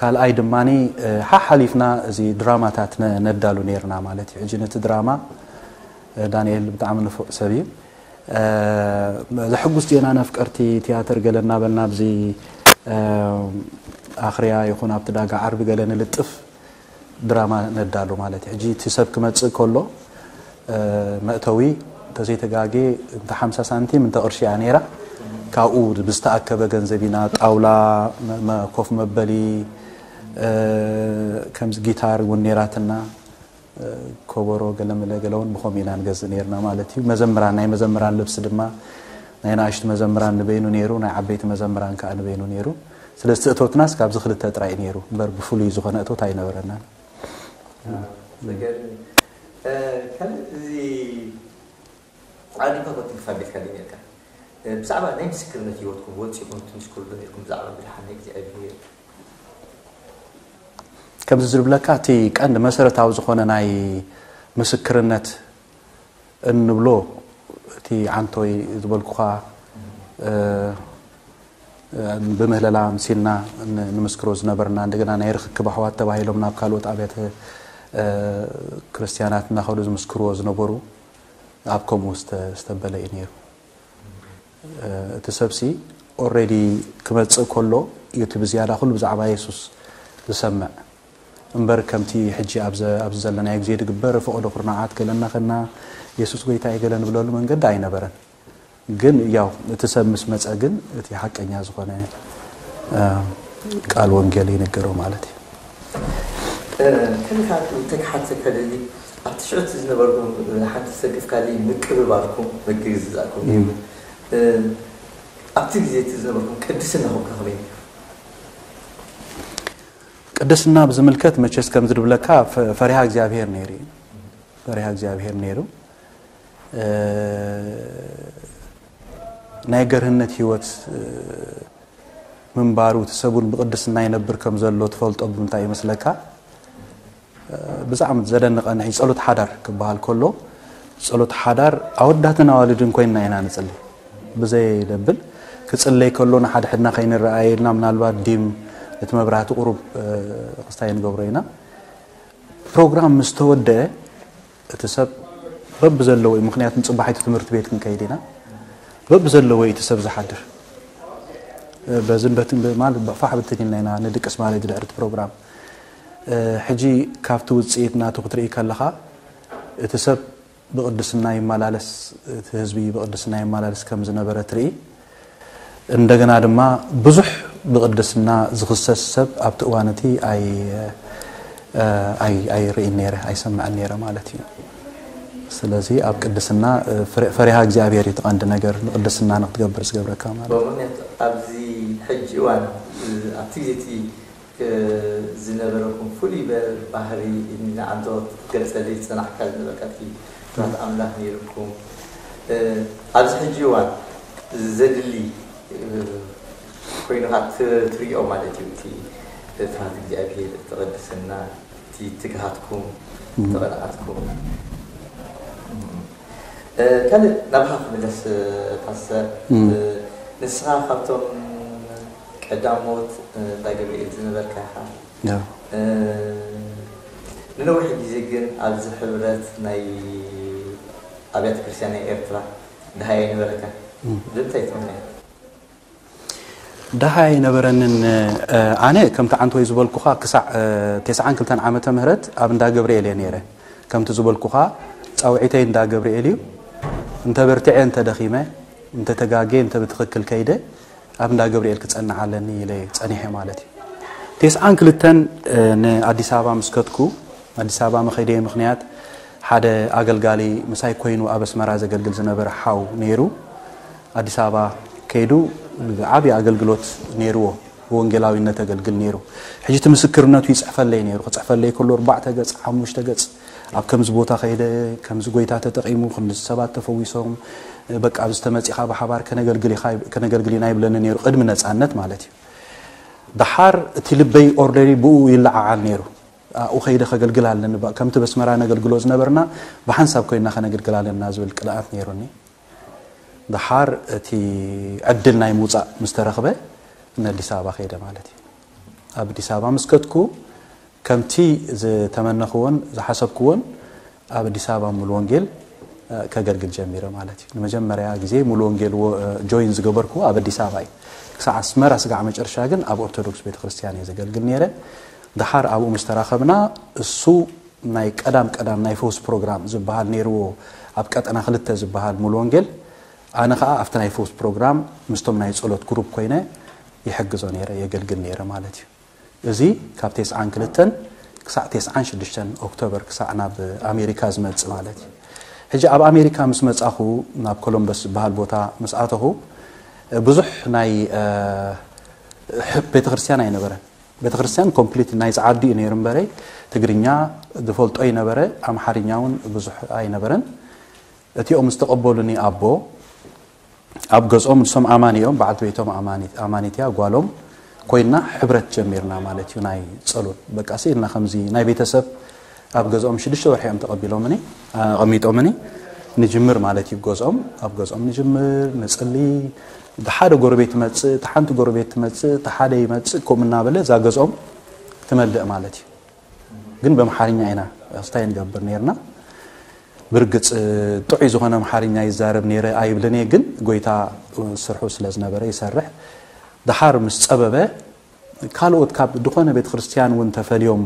ካልኣይ ድማ ሓሓሊፍና እዚ ድራማታት ነዳሉ ነይርና ማለት እዩ። ሕጂ ነቲ ድራማ ዳንኤል ብጣዕሚ ንፉዕ ሰብ እዩ። ዘሕጉስ ዜና ነፍቀርቲ ቲያትር ገለ እናበልና ኣብዚ ኣኽርያ ይኹን ኣብቲ ዳጋ ዓርቢ ገለ ንልጥፍ ድራማ ነዳሉ ማለት እዩ። ሕጂ እቲ ሰብ ክመፅእ ከሎ መእተዊ እንተዘይተጋጌ እንተ ሓምሳ ሳንቲም እንተ ቅርሺ እያ ነይራ። ካብኡ ብዝተኣከበ ገንዘብ ኢና ጣውላ፣ ኮፍ መበሊ፣ ከምዚ ጊታር እውን ነይራትና። ኮቦሮ ገለመለ ገለ እውን ብኸምኡ ኢና ንገዝእ ነይርና ማለት እዩ። መዘምራን ናይ መዘምራን ልብሲ ድማ ናይ ንኣሽቱ መዘምራን ንበይኑ ነይሩ፣ ናይ ዓበይቲ መዘምራን ከዓ ንበይኑ ነይሩ። ስለዚ እቲ እቶትናስ ካብዚ ክልተ ጥራይ እዩ ነይሩ እምበር ብፍሉይ ዝኾነ እቶት ኣይነበረናን። ዘገርም እዩ። ካልእ እዚ ዓዲምካ ኮቲልካ ቤትካ ዶ ነርካ? ብዛዕባ ናይ ምስክርነት ህይወትኩም ወፂኹም ትምስክሩ ዶ ነርኩም ብዛዕባ ምድሓን ናይ እግዚኣብሔር? ከምዚ ዝብለካ እቲ ቀንዲ መሰረታዊ ዝኾነ ናይ ምስክርነት እንብሎ እቲ ዓንቶይ ዝበልኩኻ ብምህለላ ምሲልና ንምስክሮ ዝነበርና እንደገና ናይ ርክክብ ኣሕዋት ተባሂሎም ናብ ካልኦት ኣብያተ ክርስቲያናት እናኸዱ ዝምስክርዎ ዝነበሩ ኣብ ከምኡ ዝተበለ እዩ ነይሩ። እቲ ሰብሲ ኦረዲ ክመፅእ ከሎ እዩ እቲ ብዝያዳ ኩሉ ብዛዕባ የሱስ ዝሰምዕ እምበር ከምቲ ሕጂ ኣብዚ ዘለናዮ ግዜ ዝግበር ፈቐዶ ኩርናዓት ገለ እናኸና የሱስ ጎይታ እዩ ገለ ንብለሉ መንገዲ ኣይነበረን። ግን ያው እቲ ሰብ ምስ መፀ ግን እቲ ሓቀኛ ዝኾነ ቃል ወንጌል ይንገሮ ማለት እዩ። ከልካ ተክሓት ከደሊ ኣብቲ ሽዑ ዝነበርኩም ሓንቲ ዝሰግፍ ካሊ ምቅብባልኩም ምግግዝዛእኩም እዩ። ኣብቲ ግዜ እቲ ዝነበርኩም ቅድስናኹም ከመይ ነይሩ? ቅድስና ብዝምልከት መቸስ ከም ዝድብለካ ፈሪሃ እግዚኣብሔር ነይሩ እዩ። ፈሪሃ እግዚኣብሔር ነይሩ። ናይ ገርህነት ህይወት ምንባሩ እቲ ሰብ እውን ብቅድስና ይነብር ከም ዘሎ ትፈልጦ ብምንታይ ይመስለካ? ብዛዕሚ ዘደንቐኒ ሕጂ ጸሎት ሓዳር ክበሃል ከሎ፣ ጸሎት ሓዳር ኣወዳትን ኣዋልድን ኮይንና ኢና ንጽሊ። ብዘይ ደብል ክጽለይ ከሎ ንሓድሕድና ከይንረኣየልና፣ ምናልባት ዲም እቲ መብራህቲ ቁሩብ ክስታይ ንገብሮ ኢና። ፕሮግራም ምስ ተወደአ እቲ ሰብ በብዘለዎ እዩ፣ ምኽንያቱ ንጽባሒቱ ትምህርቲ ቤት ክንከይድ ኢና። በብዘለዎ እዩ እቲ ሰብ ዝሓድር። በዝን በትን ማለት ፋሕ ብትን ኢልና ኢና ንድቅስ ማለት ድሕርቲ ፕሮግራም። ሕጂ ካብቲ ውጽኢት ናቱ ክትርኢ ከለኻ፣ እቲ ሰብ ብቕድስና ይመላለስ፣ እቲ ህዝቢ ብቕድስና ይመላለስ ከም ዝነበረ ትርኢ። እንደገና ድማ ብዙሕ ብቕድስና ዝኽሰስ ሰብ ኣብቲ እዋን እቲ ኣይ-፣ ኣይ-፣ ኣይርእይን ነይረ፣ ኣይሰምዕን ነይረ ማለት እዩ። ስለዚ ኣብ ቅድስና፣ ፍረ-፣ ፈሪሃ እግዚኣብሔር እዩ እቲ ቀንዲ ነገር፣ ንቅድስና ንክትገብር ዝገብረካ ማለት እዩ። ብምኽንያት ኣብዚ ሕጂ እዋን፣ ኣብቲ ግዜ እቲ ዝነበረኩም ፍሉይ በ-፣ ባህሪ ንዓንቶ ክትገልጸለይ ዝጸናሕካ ዝነበርካ እቲ ፍርሃት ኣምላኽ ነይርኩም። እ፣ ኣብዚ ሕጂ እዋን ዘድሊ፣ እ፣ ኮይኑ ካ ት-፣ ትሪኦ ማለት እዩ። እቲ ፍርሃት እግዚኣብሔር፣ እቲ ቅድስና፣ እቲ ትግሃትኩም፣ እቲ እም። ቅንኣትኩም። እ፣ ካልእ ናባኻ ክምለስ፣ እ፣ ፓስተር፣ እም። እ፣ ንስኻ ካብቶም ቀዳሞት፣ እ፣ እንዳ ገብርኤል ዝነበርካ ኢኻ። ያ። እ፣ ንነዊሕ ግዜ ግን ኣብዚ ሕብረት ናይ ኣብያተ ክርስቲያን ናይ ኤርትራ ደሃይ ኣይነበረካን። እም። ብምንታይ እቲ ምኽንያት? ደሃይ ኣይነበረንን። እ፣ ኣነ ከምቲ ዓንተወይ ዝበልኩኻ ክሳዕ፣ እ፣ ተስዓን ክልተን ዓመተ ምህረት ኣብ እንዳ ገብርኤል እየ ነይረ። ከምቲ ዝበልኩኻ ጻውዒተይ እንዳ ገብርኤል እዩ። እንተ በርቲዐ፣ እንተ ደኺመ፣ እንተ ተጋጌ፣ እንተ ብትኽክል ከይደ፣ ኣብ እንዳ ገብርኤል ክጸንዕ ኣለኒ ኢለ ጸኒሐ ማለት እዩ። ተስዓን ክልተን፣ እ፣ ንኣዲስ ኣበባ ምስ ከድኩ፣ ኣዲስ ኣበባ መኸደየ ምኽንያት ሓደ ኣገልጋሊ ምሳይ ኮይኑ ኣብ ኣስመራ ዘገልግል ዝነበረ ሓው ነይሩ። ኣዲስ ኣበባ ከይዱ ዓቢ ኣገልግሎት ነይርዎ፣ ብወንጌላዊነት ኣገልግል ነይሩ። ሕጂ እቲ ምስክርነቱ ይጽሕፈለይ ነይሩ። ክጽሕፈለይ ከሎ ኣርባዕተ ገጽ፣ ሓሙሽተ ገጽ፣ ኣብ ከምዚ ቦታ ከይደ፣ ከምዚ ጎይታ ተጠቒሙ፣ ክንዲ ሰባት ተፈዊሶም፣ በቃ ኣብዚ ተመጺኻ ብሓባር ከነገልግል ኢኻ፣ ከነገልግል ኢና ይብለኒ ነይሩ፣ ቅድሚ ነጻነት ማለት እዩ። ደሓር እቲ ልበይ ኦርደሪ ብኡ ይለዓዓል ነይሩ። ኣብኡ ከይደ ከገልግል ኣለኒ፣ ባ-፣ ከምቲ በስመራ ነገልግሎ ዝነበርና ብሓንሳብ ኮይንና ከነገልግል ኣለና ዝብል ቅንኣት ነይሩኒ። ደሓር እቲ ዕድል ናይ ምውጻእ ምስ ተረኽበ ንኣዲስ ኣበባ ከይደ ማለት እዩ። ኣብ ኣዲስ ኣበባ ምስ ከድኩ ከምቲ ዝተመነኽዎን ዝሓሰብክዎን ኣብ ኣዲስ ኣበባ ሙሉ ወንጌል፣ እ፣ ከገልግል ጀሚረ ማለት እዩ። ንመጀመርያ ግዜ ሙሉ ወንጌል ወ-፣ እ፣ ጆይን ዝገበርኩዎ ኣብ ኣዲስ ኣበባ እዩ። ክሳዕ ኣስመራ ስጋዕ መጨረሻ ግን ኣብ ኦርቶዶክስ ቤተክርስትያን እየ ዘገልግል ነይረ። ደሓር ኣብኡ ምስ ተራኸብና እሱ ናይ ቀዳም ቀዳም ናይ ፈውስ ፕሮግራም ዝበሃል ነይርዎ ኣብ ቀጠና ክልተ ዝበሃል ሙሉ ወንጌል። ኣነ ኸኣ ኣብቲ ናይ ፈውስ ፕሮግራም ምስቶም ናይ ጸሎት ግሩፕ ኮይነ ይሕግዞ ነይረ፣ የገልግል ነይረ ማለት እዩ። እዚ ካብ ተስዓን ክልተን ክሳዕ ተስዓን ሽዱሽተን ኦክቶበር ክሳዕ ናብ ኣሜሪካ ዝመጽእ ማለት እዩ። ሕጂ ኣብ ኣሜሪካ ምስ መጻኹ ናብ ኮሎምበስ ዝበሃል ቦታ ምስ ኣተኹ ብዙሕ ናይ፣ እ፣ ሕ-፣ ቤተክርስትያን ኣይነበረን። ቤተክርስትያን ኮምፕሊት ናይ ጸዓዱ እዩ ነይሩ እምበረይ ትግርኛ ዝፈልጦ ይነበረ፣ ኣምሓርኛ እውን ብዙሕ ኣይነበረን። እቲኦም ዝተቐበሉኒ ኣቦ ኣብ ገዝኦም ንሶም ኣማኒ እዮም፣ በዓልቲ ቤቶም ኣማኒት፣ ኣማኒት እያ፣ ጓሎም ኮይና ሕብረት ጀሚርና ማለት እዩ። ናይ ጸሎት በቃ ስኢልና ከምዚ ናይ ቤተሰብ ኣብ ገዝኦም ሽዱሽተ ወርሒ እዮም ተቐቢሎምኒ፣ ኣቐሚጦምኒ። ንጅምር ማለት እዩ ገዝኦም፣ ኣብ ገዝኦም ንጅምር፣ ንጽሊ። እቲ ሓደ ጎረቤት ትመጽእ፣ እቲ ሓንቲ ጎረቤት ትመጽእ፣ እቲ ሓደ ይመጽእ፣ ከምኡ እናበለ እዛ ገዝኦም ትመልእ ማለት እዩ። ግን በምሓርኛ ኢና ስታይ ንገብር ነይርና። ብርግጽ ጥዑይ ዝኾነ ኣምሓርኛ ይዛረብ ነይረ ኣይብልን እየ፣ ግን ጎይታ ስርሑ ስለ ዝነበረ ይሰርሕ። ደሓር ምስ ጸበበ፣ ካልኦት ካብ ድኾነ ቤተ ክርስቲያን እውን ተፈልዮም፣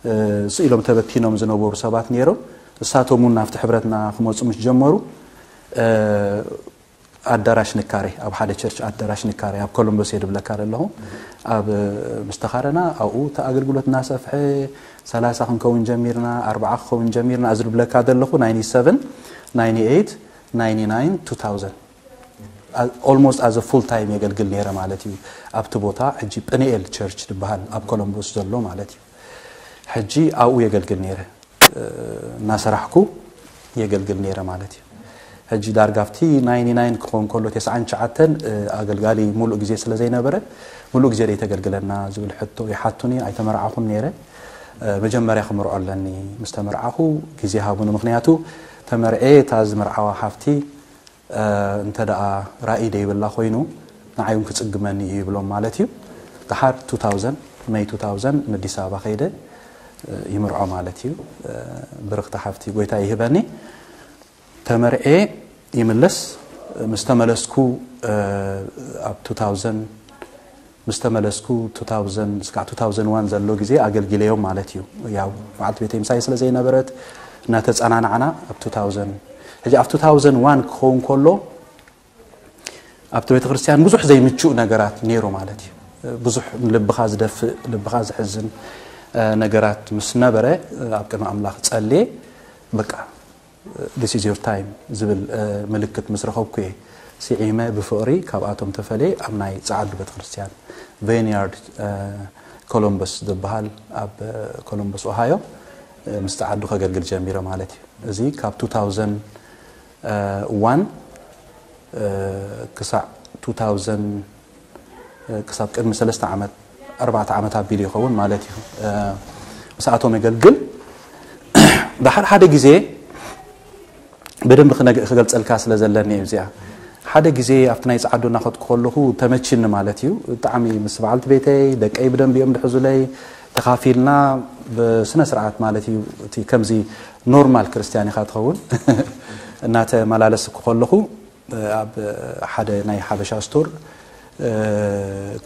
እ፣ ስኢሎም ተበቲኖም ዝነበሩ ሰባት ነይሮም። እሳቶም እውን ናብቲ ሕብረትና ክመጹ ምስ ጀመሩ፣ እ፣ ኣዳራሽ ንካረ፣ ኣብ ሓደ ቸርች ኣዳራሽ ንካረ፣ ኣብ ኮሎምበስ እየ ድብለካ ዘለኹ። ኣብ፣ እ፣ ምስ ተኻረና፣ ኣብኡ እቲ ኣገልግሎት እናሰፍሐ፣ ሰላሳ ክንከውን ጀሚርና፣ ኣርብዓ ክኸውን ጀሚርና፣ እዚ ድብለካ ዘለኹ፣ ናይንቲ ሰቨን፣ ናይንቲ ኤይት፣ ናይንቲ ናይን፣ ቱ ታውዘንድ። ኣ-፣ ኦልሞስት ኣዘ ፉል ታይም የገልግል ነይረ ማለት እዩ። ኣብቲ ቦታ ሕጂ ጵንኤል ቸርች ዝበሃል ኣብ ኮሎምቦስ ዘሎ ማለት እዩ። ሕጂ ኣብኡ የገልግል ነይረ። እ፣ እናሰራሕኩ የገልግል ነይረ ማለት እዩ። ሕጂ ዳርጋ ኣብቲ ናይንቲ ናይን ክኸውን ከሎ፣ ተስዓን ትሽዓተን፣ እ፣ ኣገልጋሊ ሙሉእ ግዜ ስለ ዘይነበረ፣ ሙሉእ ግዜ ደይ ተገልግለና ዝብል ሕቶ ይሓቱኒ፣ ኣይተመርዓኹን ነይረ። መጀመርያ ክምርዖ ኣለኒ፣ ምስ ተመርዓኹ ግዜ ሃቡኒ። ምኽንያቱ ተመርዔ እታ ዝምርዓዋ ሓፍቲ እንተ ደኣ ራእይ ደይብላ ኮይኑ ንዓይ እውን ክጽግመኒ እዩ ይብሎም ማለት እዩ። ደሓር two thousand፣ May two thousand ንኣዲስ ኣበባ ከይደ ይምርዖ ማለት እዩ። ብርኽቲ ሓፍቲ ጎይታ ይህበኒ። ተመርዔ ይምለስ። ምስ ተመለስኩ ኣብ two thousand፣ ምስ ተመለስኩ two thousand እስካዕ two thousand one ዘሎ ግዜ ኣገልጊለዮም ማለት እዩ። ያው በዓልቲ ቤተይ ምሳይ ስለ ዘይነበረት እናተጸናናዕና ኣብ two thousand፣ ሕጂ ኣብ two thousand one ክኸውን ከሎ ኣብቲ ቤተክርስትያን ብዙሕ ዘይምቹእ ነገራት ነይሩ ማለት እዩ። ብዙሕ ልብኻ ዝደፍእ፣ ልብኻ ዝሕዝን ነገራት ምስ ነበረ ኣብ ቅድሚ ኣምላኽ ጸልየ፣ በቃ this is your time ዝብል ምልክት ምስ ረኸብኩ እየ ስዒመ ብፍቕሪ ካብኣቶም ተፈልየ ኣብ ናይ ጸዓዱ ቤተክርስትያን ቬንያርድ ኮሎምበስ ዝበሃል ኣብ ኮሎምበስ ኦሃዮ ምስ ጸዓዱ ከገልግል ጀሚረ ማለት እዩ። እዚ ካብ two thousand one ክሳዕ two thousand፣ ክሳብ ቅድሚ ሰለስተ ዓመት፣ ኣርባዕተ ዓመት ኣቢሉ ይኸውን ማለት እዩ። ምስኣቶም የገልግል። ደሓር ሓደ ግዜ ብደንቢ ክነግ-፣ ክገልጸልካ ስለ ዘለኒ እዩ እዚኣ። ሓደ ግዜ ኣብቲ ናይ ጸዓዱ እናኸድኩ ከለኹ ተመችኒ ማለት እዩ። ብጣዕሚ ምስ በዓልቲ ቤተይ፣ ደቀይ ብደንቢ እዮም ድሕዙለይ። ተኻፊልና ብስነ ስርዓት ማለት እዩ። እቲ ከምዚ ኖርማል ክርስትያን ኢኻ ትኸውን። እናተመላለስኩ ከለኹ ኣብ ሓደ ናይ ሓበሻ ስቶር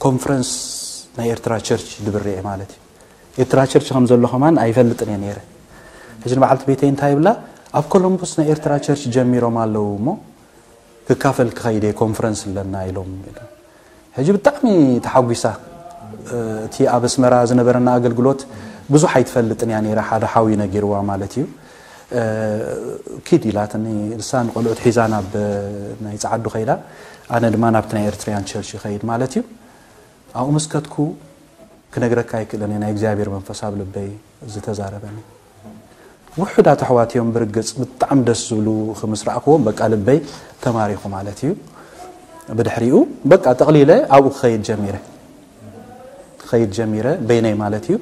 ኮንፈረንስ ናይ ኤርትራ ቸርች ድብር እየ ማለት እዩ። ኤርትራ ቸርች ከም ዘሎ ከማን ኣይፈልጥን እየ ነይረ። ሕጂ ንበዓልቲ ቤተይ እንታይ ይብላ፣ ኣብ ኮሎምቦስ ናይ ኤርትራ ቸርች ጀሚሮም ኣለዉ እሞ ክካፈል ክኸይድ እየ፣ ኮንፈረንስ ኣለና ኢሎም። ሕጂ ብጣዕሚ ተሓጒሳ። እቲ ኣብ ኣስመራ ዝነበረና ኣገልግሎት ብዙሕ ኣይትፈልጥን እያ ነይራ፣ ሓደ ሓው እዩ ነጊርዋ ማለት እዩ። ኪድ ኢላትኒ፣ ንሳ ንቆልዑት ሒዛ ናብ ናይ ጸዓዱ ከይዳ፣ ኣነ ድማ ናብቲ ናይ ኤርትራያን ቸርች ይኸይድ ማለት እዩ። ኣብኡ ምስ ከድኩ ክነግረካ ኣይክእልን እየ፣ ናይ እግዚኣብሔር መንፈስ ኣብ ልበይ ዝተዛረበኒ። ውሑዳት ኣሕዋት እዮም ብርግጽ ብጣዕሚ ደስ ዝብሉ ክምስ ረኣኽዎም፣ በቃ ልበይ ተማሪኹ ማለት እዩ። ብድሕሪኡ በቃ ጠቕሊለ ኣብኡ ክኸይድ ጀሚረ። ክኸይድ ጀሚረ በይነይ ማለት እዩ።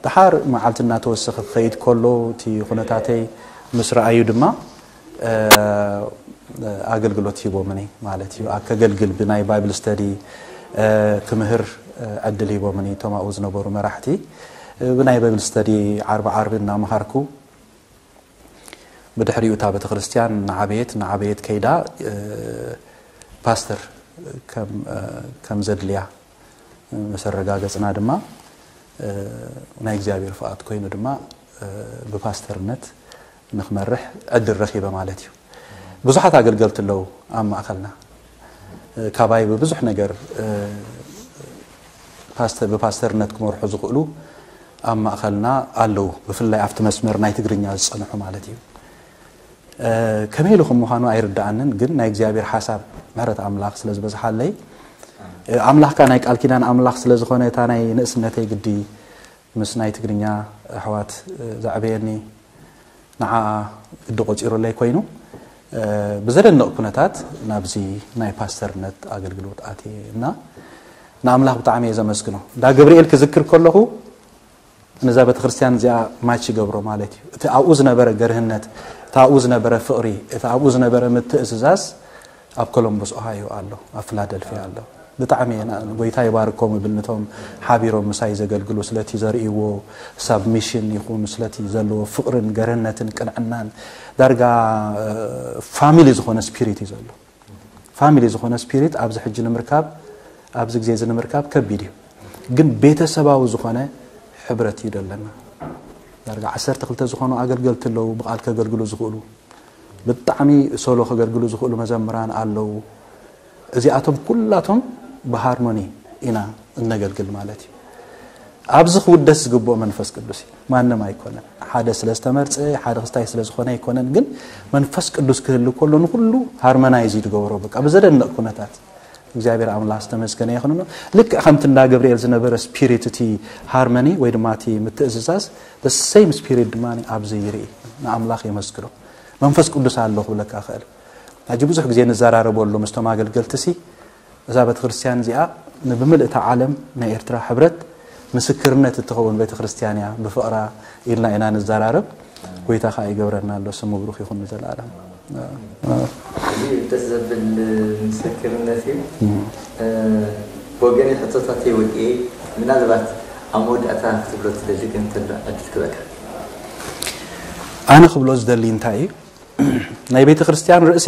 ደሓር መዓልቲ እናተወሰኸ ክኸይድ ከሎ እቲ ኩነታተይ ምስ ረኣዩ ድማ ኣገልግሎት ሂቦምኒ ማለት እዩ። ኣብ ከገልግል ብናይ ባይብል ስተዲ ክምህር ዕድል ሂቦምኒ እቶም ኣብኡ ዝነበሩ መራሕቲ። ብናይ ባይብል ስተዲ ዓርቢ ዓርቢ እናመሃርኩ ብድሕሪኡ እታ ቤተክርስትያን እናዓበየት እናዓበየት ከይዳ ፓስተር ከም ዘድልያ ምስ ኣረጋገጽና ድማ ናይ እግዚኣብሔር ፍቓድ ኮይኑ ድማ ብፓስተርነት ንኽመርሕ ዕድል ረኺበ ማለት እዩ። ብዙሓት ኣገልገልቲ ኣለዉ ኣብ ማእኸልና። ካባይ ብብዙሕ ነገር ፓስተር ብፓስተርነት ክመርሑ ዝኽእሉ ኣብ ማእኸልና ኣለዉ፣ ብፍላይ ኣብቲ መስመር ናይ ትግርኛ ዝጸንሑ ማለት እዩ። ከመይ ኢሉ ከም ምዃኑ ኣይርድኣንን፣ ግን ናይ እግዚኣብሔር ሓሳብ ምሕረት ኣምላኽ ስለ ዝበዝሓለይ ኣምላኽካ ናይ ቃል ኪዳን ኣምላኽ ስለ ዝኾነ እታ ናይ ንእስነተይ ግዲ ምስ ናይ ትግርኛ ኣሕዋት ዘዕበየኒ ንዓኣ ግዲ ቆጺሩለይ ኮይኑ ብዘደንቕ ኩነታት ናብዚ ናይ ፓስተርነት ኣገልግሎት ኣትየ እና ንኣምላኽ ብጣዕሚ እየ ዘመስግኖ። እንዳ ገብርኤል ክዝክር ከለኹ ነዛ ቤተክርስትያን እዚኣ ማች ይገብሮ ማለት እዩ። እቲ ኣብኡ ዝነበረ ገርህነት፣ እቲ ኣብኡ ዝነበረ ፍቕሪ፣ እቲ ኣብኡ ዝነበረ ምትእዝዛዝ ኣብ ኮሎምቦስ ኦሃዮ ኣሎ፣ ኣብ ፊላደልፊያ ኣሎ። ብጣዕሚ እየ ና-፣ ጎይታ ይባርኮም እብል ነቶም ሓቢሮም ምሳይ ዘገልግሉ ስለቲ ዘርእይዎ ሳብሚሽን ይኹን ስለቲ ዘለዎ ፍቕርን ገርህነትን ቅንዕናን ዳርጋ ፋሚሊ ዝኾነ ስፒሪት እዩ ዘሎ። ፋሚሊ ዝኾነ ስፒሪት ኣብዚ ሕጂ ንምርካብ፣ ኣብዚ ግዜ እዚ ንምርካብ ከቢድ እዩ። ግን ቤተሰባዊ ዝኾነ ሕብረት እዩ ዘለና። ዳርጋ ዓሰርተ ክልተ ዝኾኑ ኣገልገልቲ ኣለዉ፣ ብቓል ከገልግሉ ዝኽእሉ፣ ብጣዕሚ ሶሎ ከገልግሉ ዝኽእሉ መዘምራን ኣለዉ። እዚኣቶም ኩላቶም ብሃርሞኒ ኢና እነገልግል ማለት እዩ። ኣብዚ ክውደስ ዝግብኦ መንፈስ ቅዱስ እዩ፣ ማንም ኣይኮነን። ሓደ ስለ ዝተመርጸ፣ ሓደ ክስታይ ስለ ዝኾነ ኣይኮነን፣ ግን መንፈስ ቅዱስ ክህሉ ከሎ ንኹሉ ሃርመናይዝ እዩ ዝገብሮ። በቃ ብዘደንቕ ኩነታት እግዚኣብሔር ኣምላኽ ዝተመስገነ ይኹንኖ። ልክዕ ከምቲ እንዳ ገብርኤል ዝነበረ ስፒሪት እቲ ሃርመኒ ወይ ድማ እቲ ምትእዝዛዝ፣ the same spirit ድማ ኣብዚ ይርኢ። ንኣምላኽ የመስግኖ። መንፈስ ቅዱስ ኣሎ ክብለካ እኽእል። ሕጂ ብዙሕ ግዜ ንዘራረበሉ ምስቶም ኣገልገልቲ ሲ እዛ ቤተክርስትያን እዚኣ ንብምልእታ ዓለም ናይ ኤርትራ ሕብረት ምስክርነት እትኸውን ቤተ ክርስቲያን እያ፣ ብፍቕራ ኢልና ኢና ንዘራረብ። ጎይታ ኸዓ ይገብረና ኣሎ፣ ስሙ ብሩኽ ይኹን ንዘለኣለም። እዚ ደስ ዘብል ምስክርነት እዩ። ብወገነይ ሕቶታተይ ወዲኤ፣ ምናልባት ኣብ መወዳእታ ክትብሎ ትደሊ ግን እንተሎ ዕድል ክበካ። ኣነ ክብሎ ዝደሊ እንታይ እዩ? ናይ ቤተ ክርስቲያን ርእሲ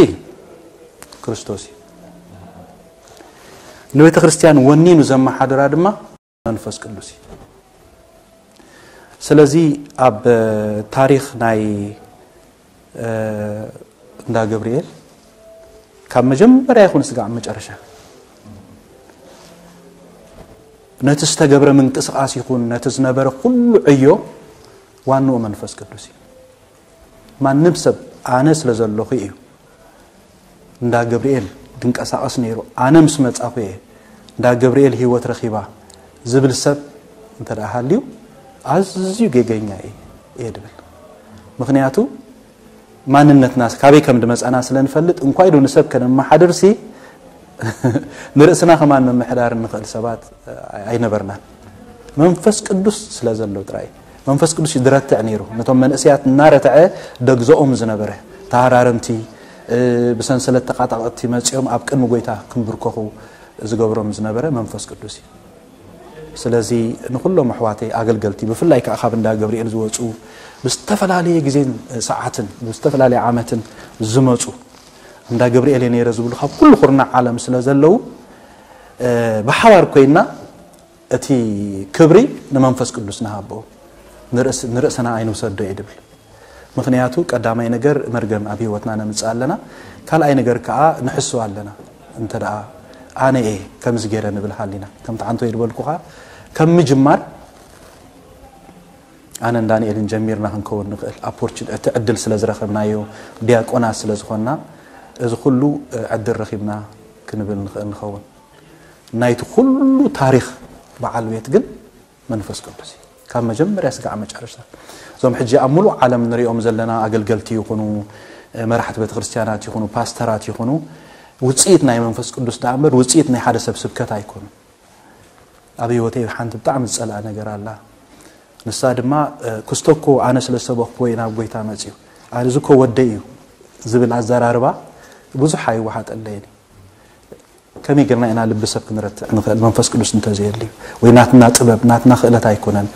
ክርስቶስ እዩ። ንቤተ ክርስቲያን ወኒኑ ዘመሓድራ ድማ መንፈስ ቅዱስ እዩ። ስለዚ ኣብ ታሪኽ ናይ እንዳ ገብርኤል ካብ መጀመርያ ይኹን ስጋዕ መጨረሻ ነቲ ዝተገብረ ምንቅስቃስ ይኹን ነቲ ዝነበረ ኩሉ ዕዮ ዋንኡ መንፈስ ቅዱስ እዩ። ማንም ሰብ ኣነ ስለ ዘለኹ እዩ እንዳ ገብርኤል ድንቀሳቐስ ነይሩ፣ ኣነ ምስ መጻኹ እየ እንዳ ገብርኤል ህይወት ረኺባ ዝብል ሰብ እንተ ደኣ ሃልዩ ኣዝዩ ጌገኛ እየ ድብል። ምኽንያቱ ማንነትና ካበይ ከም ድመጻና ስለ ንፈልጥ፣ እንኳይ ዶ ንሰብ ከነመሓድርሲ ንርእስና ከማን ምምሕዳር እንኽእል ሰባት ኣይነበርናን። መንፈስ ቅዱስ ስለ ዘሎ ጥራይ። መንፈስ ቅዱስ እዩ ድረትዕ ነይሩ። ነቶም መንእሰያት እናረትዐ ደግዘኦም ዝነበረ፣ ተሃራረምቲ፣ ብሰንሰለት ተቓጣቐጥቲ መጺኦም ኣብ ቅድሚ ጎይታ ክንብርከኹ ዝገብሮም ዝነበረ መንፈስ ቅዱስ እዩ። ስለዚ ንኹሎም ኣሕዋተይ ኣገልገልቲ፣ ብፍላይ ከዓ ካብ እንዳ ገብርኤል ዝወፁ፣ ብዝተፈላለየ ግዜን ሰዓትን ብዝተፈላለየ ዓመትን ዝመፁ፣ እንዳ ገብርኤል እየ ነይረ ዝብሉ ካብ ኩሉ ኩርናዕ ዓለም ስለ ዘለዉ፣ ብሓባር ኮይና እቲ ክብሪ ንመንፈስ ቅዱስ ንሃቦ፣ ንርእስና ኣይንውሰዶ እየ ድብል። ምኽንያቱ ቀዳማይ ነገር መርገም ኣብ ህይወትና ነምጽእ ኣለና። ካልኣይ ነገር ከኣ ንሕስው ኣለና። እንተ ደኣ ኣነ እየ ከምዚ ገይረ ንብል ሃሊና። ከምቲ ዓንቶ እየ ዝበልኩኻ፣ ከም ምጅማር ኣነን ዳንኤልን ጀሚርና ክንከውን ንኽእል። ኣፖርቹን-፣ እቲ ዕድል ስለ ዝረኸብናዮ፣ ዲያቆናት ስለ ዝኾንና፣ እዚ ኩሉ ዕድል ረኺብና ክንብል ንኽእል ንኸውን። ናይቲ ኩሉ ታሪኽ በዓል ቤት ግን መንፈስ ቅዱስ እዩ። ካብ መጀመርያ ስጋዕ መጨረሽታ። እዞም ሕጂ ኣብ ሙሉእ ዓለም ንሪኦም ዘለና ኣገልገልቲ ይኹኑ፣ መራሕቲ ቤተክርስትያናት ይኹኑ፣ ፓስተራት ይኹኑ፣ ውፅኢት ናይ መንፈስ ቅዱስ ደኣ እምበር ውፅኢት ናይ ሓደ ሰብ ስብከት ኣይኮኑን። ኣብ ህይወተይ ሓንቲ ብጣዕሚ ዝፀልኣ ነገር ኣላ። ንሳ ድማ፣ ክስቶ እኮ ኣነ ስለ ዝሰበኽኩዎ እዩ ናብ ጎይታ መፅዩ። ኣነ እዚ እኮ ወደይ እዩ ዝብል ኣዘራርባ ብዙሕ ኣይወሓጠለይን እዩ። ከመይ ጌርና ኢና ልቢ ሰብ ክንረትዕ ንኽእል? መንፈስ ቅዱስ እንተዘየልዩ፣ ወይ ናትና ጥበብ፣ ናትና ክእለት ኣይኮነን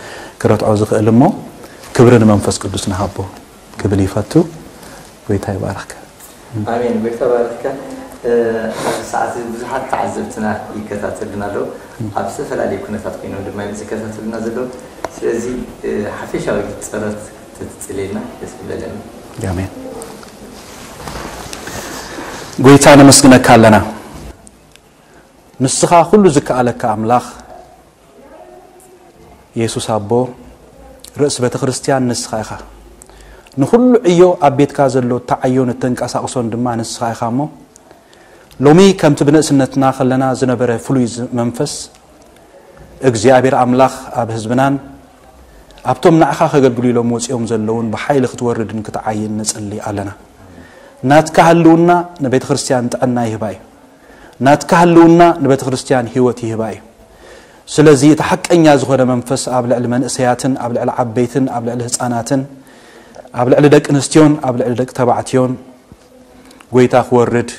ክረትዖ ዝኽእል እሞ፣ ክብሪ ንመንፈስ ቅዱስ ንሃቦ ክብል ይፈቱ። ጎይታ ይባርኽካ። ኣሜን። ጎይታ ባርኽካ። ኣብዚ ሰዓት እዚ ብዙሓት ተዓዘብትና ይከታተሉና ኣለዉ። ኣብ ዝተፈላለዩ ኩነታት ኮይኖም ድማ እዮም ዝከታተሉና ዘለዉ። ስለዚ ሓፈሻዊ ጸሎት ተትጽልየልና ደስ ምበለኒ። ኣሜን። ጎይታ ነመስግነካ ኣለና። ንስኻ ኩሉ ዝከኣለካ ኣምላኽ የሱስ ኣቦ፣ ርእሲ ቤተ ክርስቲያን ንስኻ ኢኻ። ንኹሉ ዕዮ ኣብ ቤትካ ዘሎ እተዓዮን እተንቀሳቕሶን ድማ ንስኻ ኢኻ እሞ፣ ሎሚ ከምቲ ብንእስነትና ከለና ዝነበረ ፍሉይ ዝ-፣ መንፈስ እግዚኣብሔር ኣምላኽ ኣብ ህዝብናን ኣብቶም ንዓኻ ከገልግሉ ኢሎም ወጺኦም ዘለውን ብሓይሊ ክትወርድን ክትዓይን ንጽሊ ኣለና። ናትካ ህልውና ንቤተ ክርስቲያን ጥዕና ይህባ እዩ። ናትካ ህልውና ንቤተ ክርስቲያን ህይወት ይህባ እዩ። ስለዚ እቲ ሓቀኛ ዝኾነ መንፈስ ኣብ ልዕሊ መንእሰያትን ኣብ ልዕሊ ዓበይትን ኣብ ልዕሊ ህፃናትን ኣብ ልዕሊ ደቂ ኣንስትዮን ኣብ ልዕሊ ደቂ ተባዕትዮን ጎይታ ክወርድ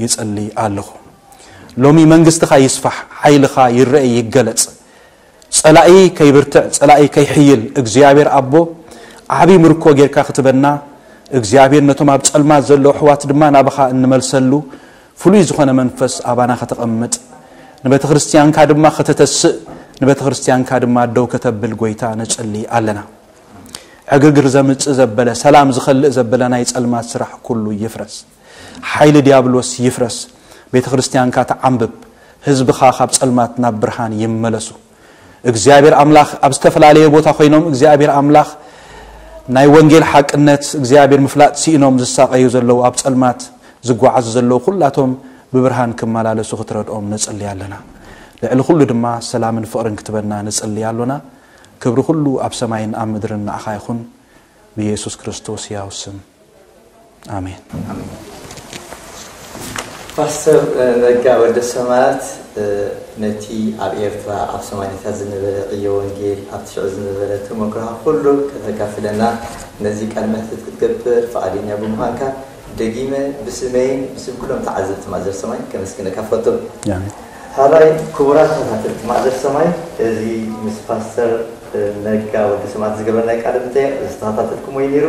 ይጸሊ ኣለኹ። ሎሚ መንግስትኻ ይስፋሕ፣ ሓይልኻ ይረአ ይገለጽ። ጸላኢ ከይብርትዕ፣ ጸላኢ ከይሕይል እግዚኣብሔር ኣቦ ዓቢ ምርኮ ጌርካ ክትበና እግዚኣብሔር ነቶም ኣብ ጸልማት ዘለዉ ኣሕዋት ድማ ናባኻ እንመልሰሉ ፍሉይ ዝኾነ መንፈስ ኣባና ከተቐምጥ ንቤተ ክርስቲያንካ ድማ ከተተስእ ንቤተ ክርስቲያንካ ድማ ደው ከተብል ጎይታ ንጽሊ ኣለና። ዕግርግር ዘምጽእ ዘበለ ሰላም ዝኸልእ ዘበለ ናይ ጸልማት ስራሕ ኩሉ ይፍረስ። ሓይሊ ዲያብሎስ ይፍረስ። ቤተ ክርስቲያንካ ተዓንብብ። ህዝብኻ ካብ ጸልማት ናብ ብርሃን ይመለሱ። እግዚኣብሔር ኣምላኽ ኣብ ዝተፈላለየ ቦታ ኮይኖም እግዚኣብሔር ኣምላኽ ናይ ወንጌል ሓቅነት እግዚኣብሔር ምፍላጥ ስኢኖም ዝሳቐዩ ዘለዉ ኣብ ጸልማት ዝጓዓዙ ዘለዉ ኩላቶም ብብርሃን ክመላለሱ ክትረድኦም ንጽሊ ኣለና። ልዕሊ ኩሉ ድማ ሰላምን ፍቕርን ክትበና ንጽሊ ኣሎና። ክብሪ ኩሉ ኣብ ሰማይን ኣብ ምድርን ንዓኻ ይኹን ብኢየሱስ ክርስቶስ ሕያው ስም ኣሜን። ፓስተር ነጋ ወልደሰማያት፣ ነቲ ኣብ ኤርትራ ኣብ ሰማንያታት ዝነበረ ዕዮ ወንጌል፣ ኣብቲ ሽዑ ዝነበረ ተመክሮኻ ኩሉ ከተካፍለና፣ ነዚ ቃለ መሕትት ክትገብር ፍቓደኛ ብምዃንካ ደጊመ ብስመይን ብስም ኩሎም ተዓዘብቲ ማእዘር ሰማይ ከመስግነካ እፈቱ። ሕራይ ክቡራት ተኸታተልቲ ማእዘር ሰማይ፣ እዚ ምስ ፓስተር ነጋ ወልደሰማያት ዝገበርናዮ ቃለ መጠይቕ ዝተኸታተልኩምዎ እዩ ነይሩ።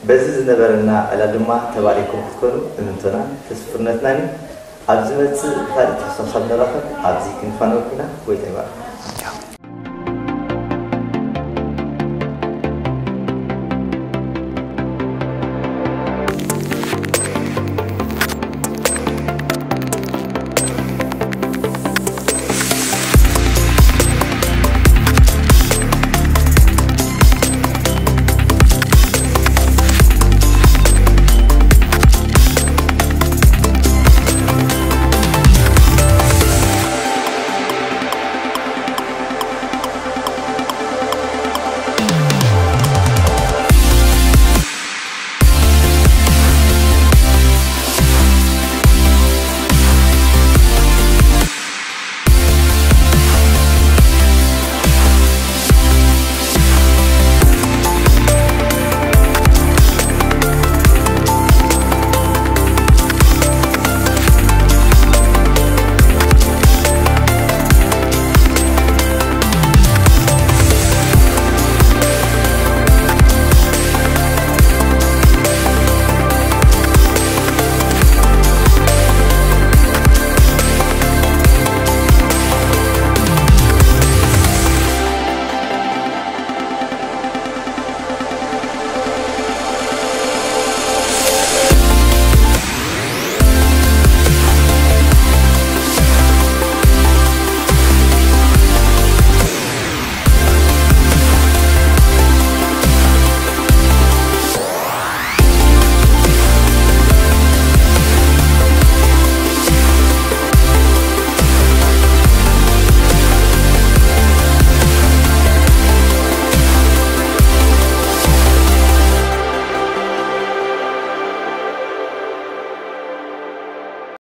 በዚ ዝነበረና ዕላል ድማ ተባሪኽኩም ክትኮኑ እምንቶናን ተስፍነትናን እዩ። ኣብ ዝመጽእ ካልእ ተኸሳሳብ ንራኸብ። ኣብዚ ክንፋነወኩም ኢና። ጎይታ ይባርኽ።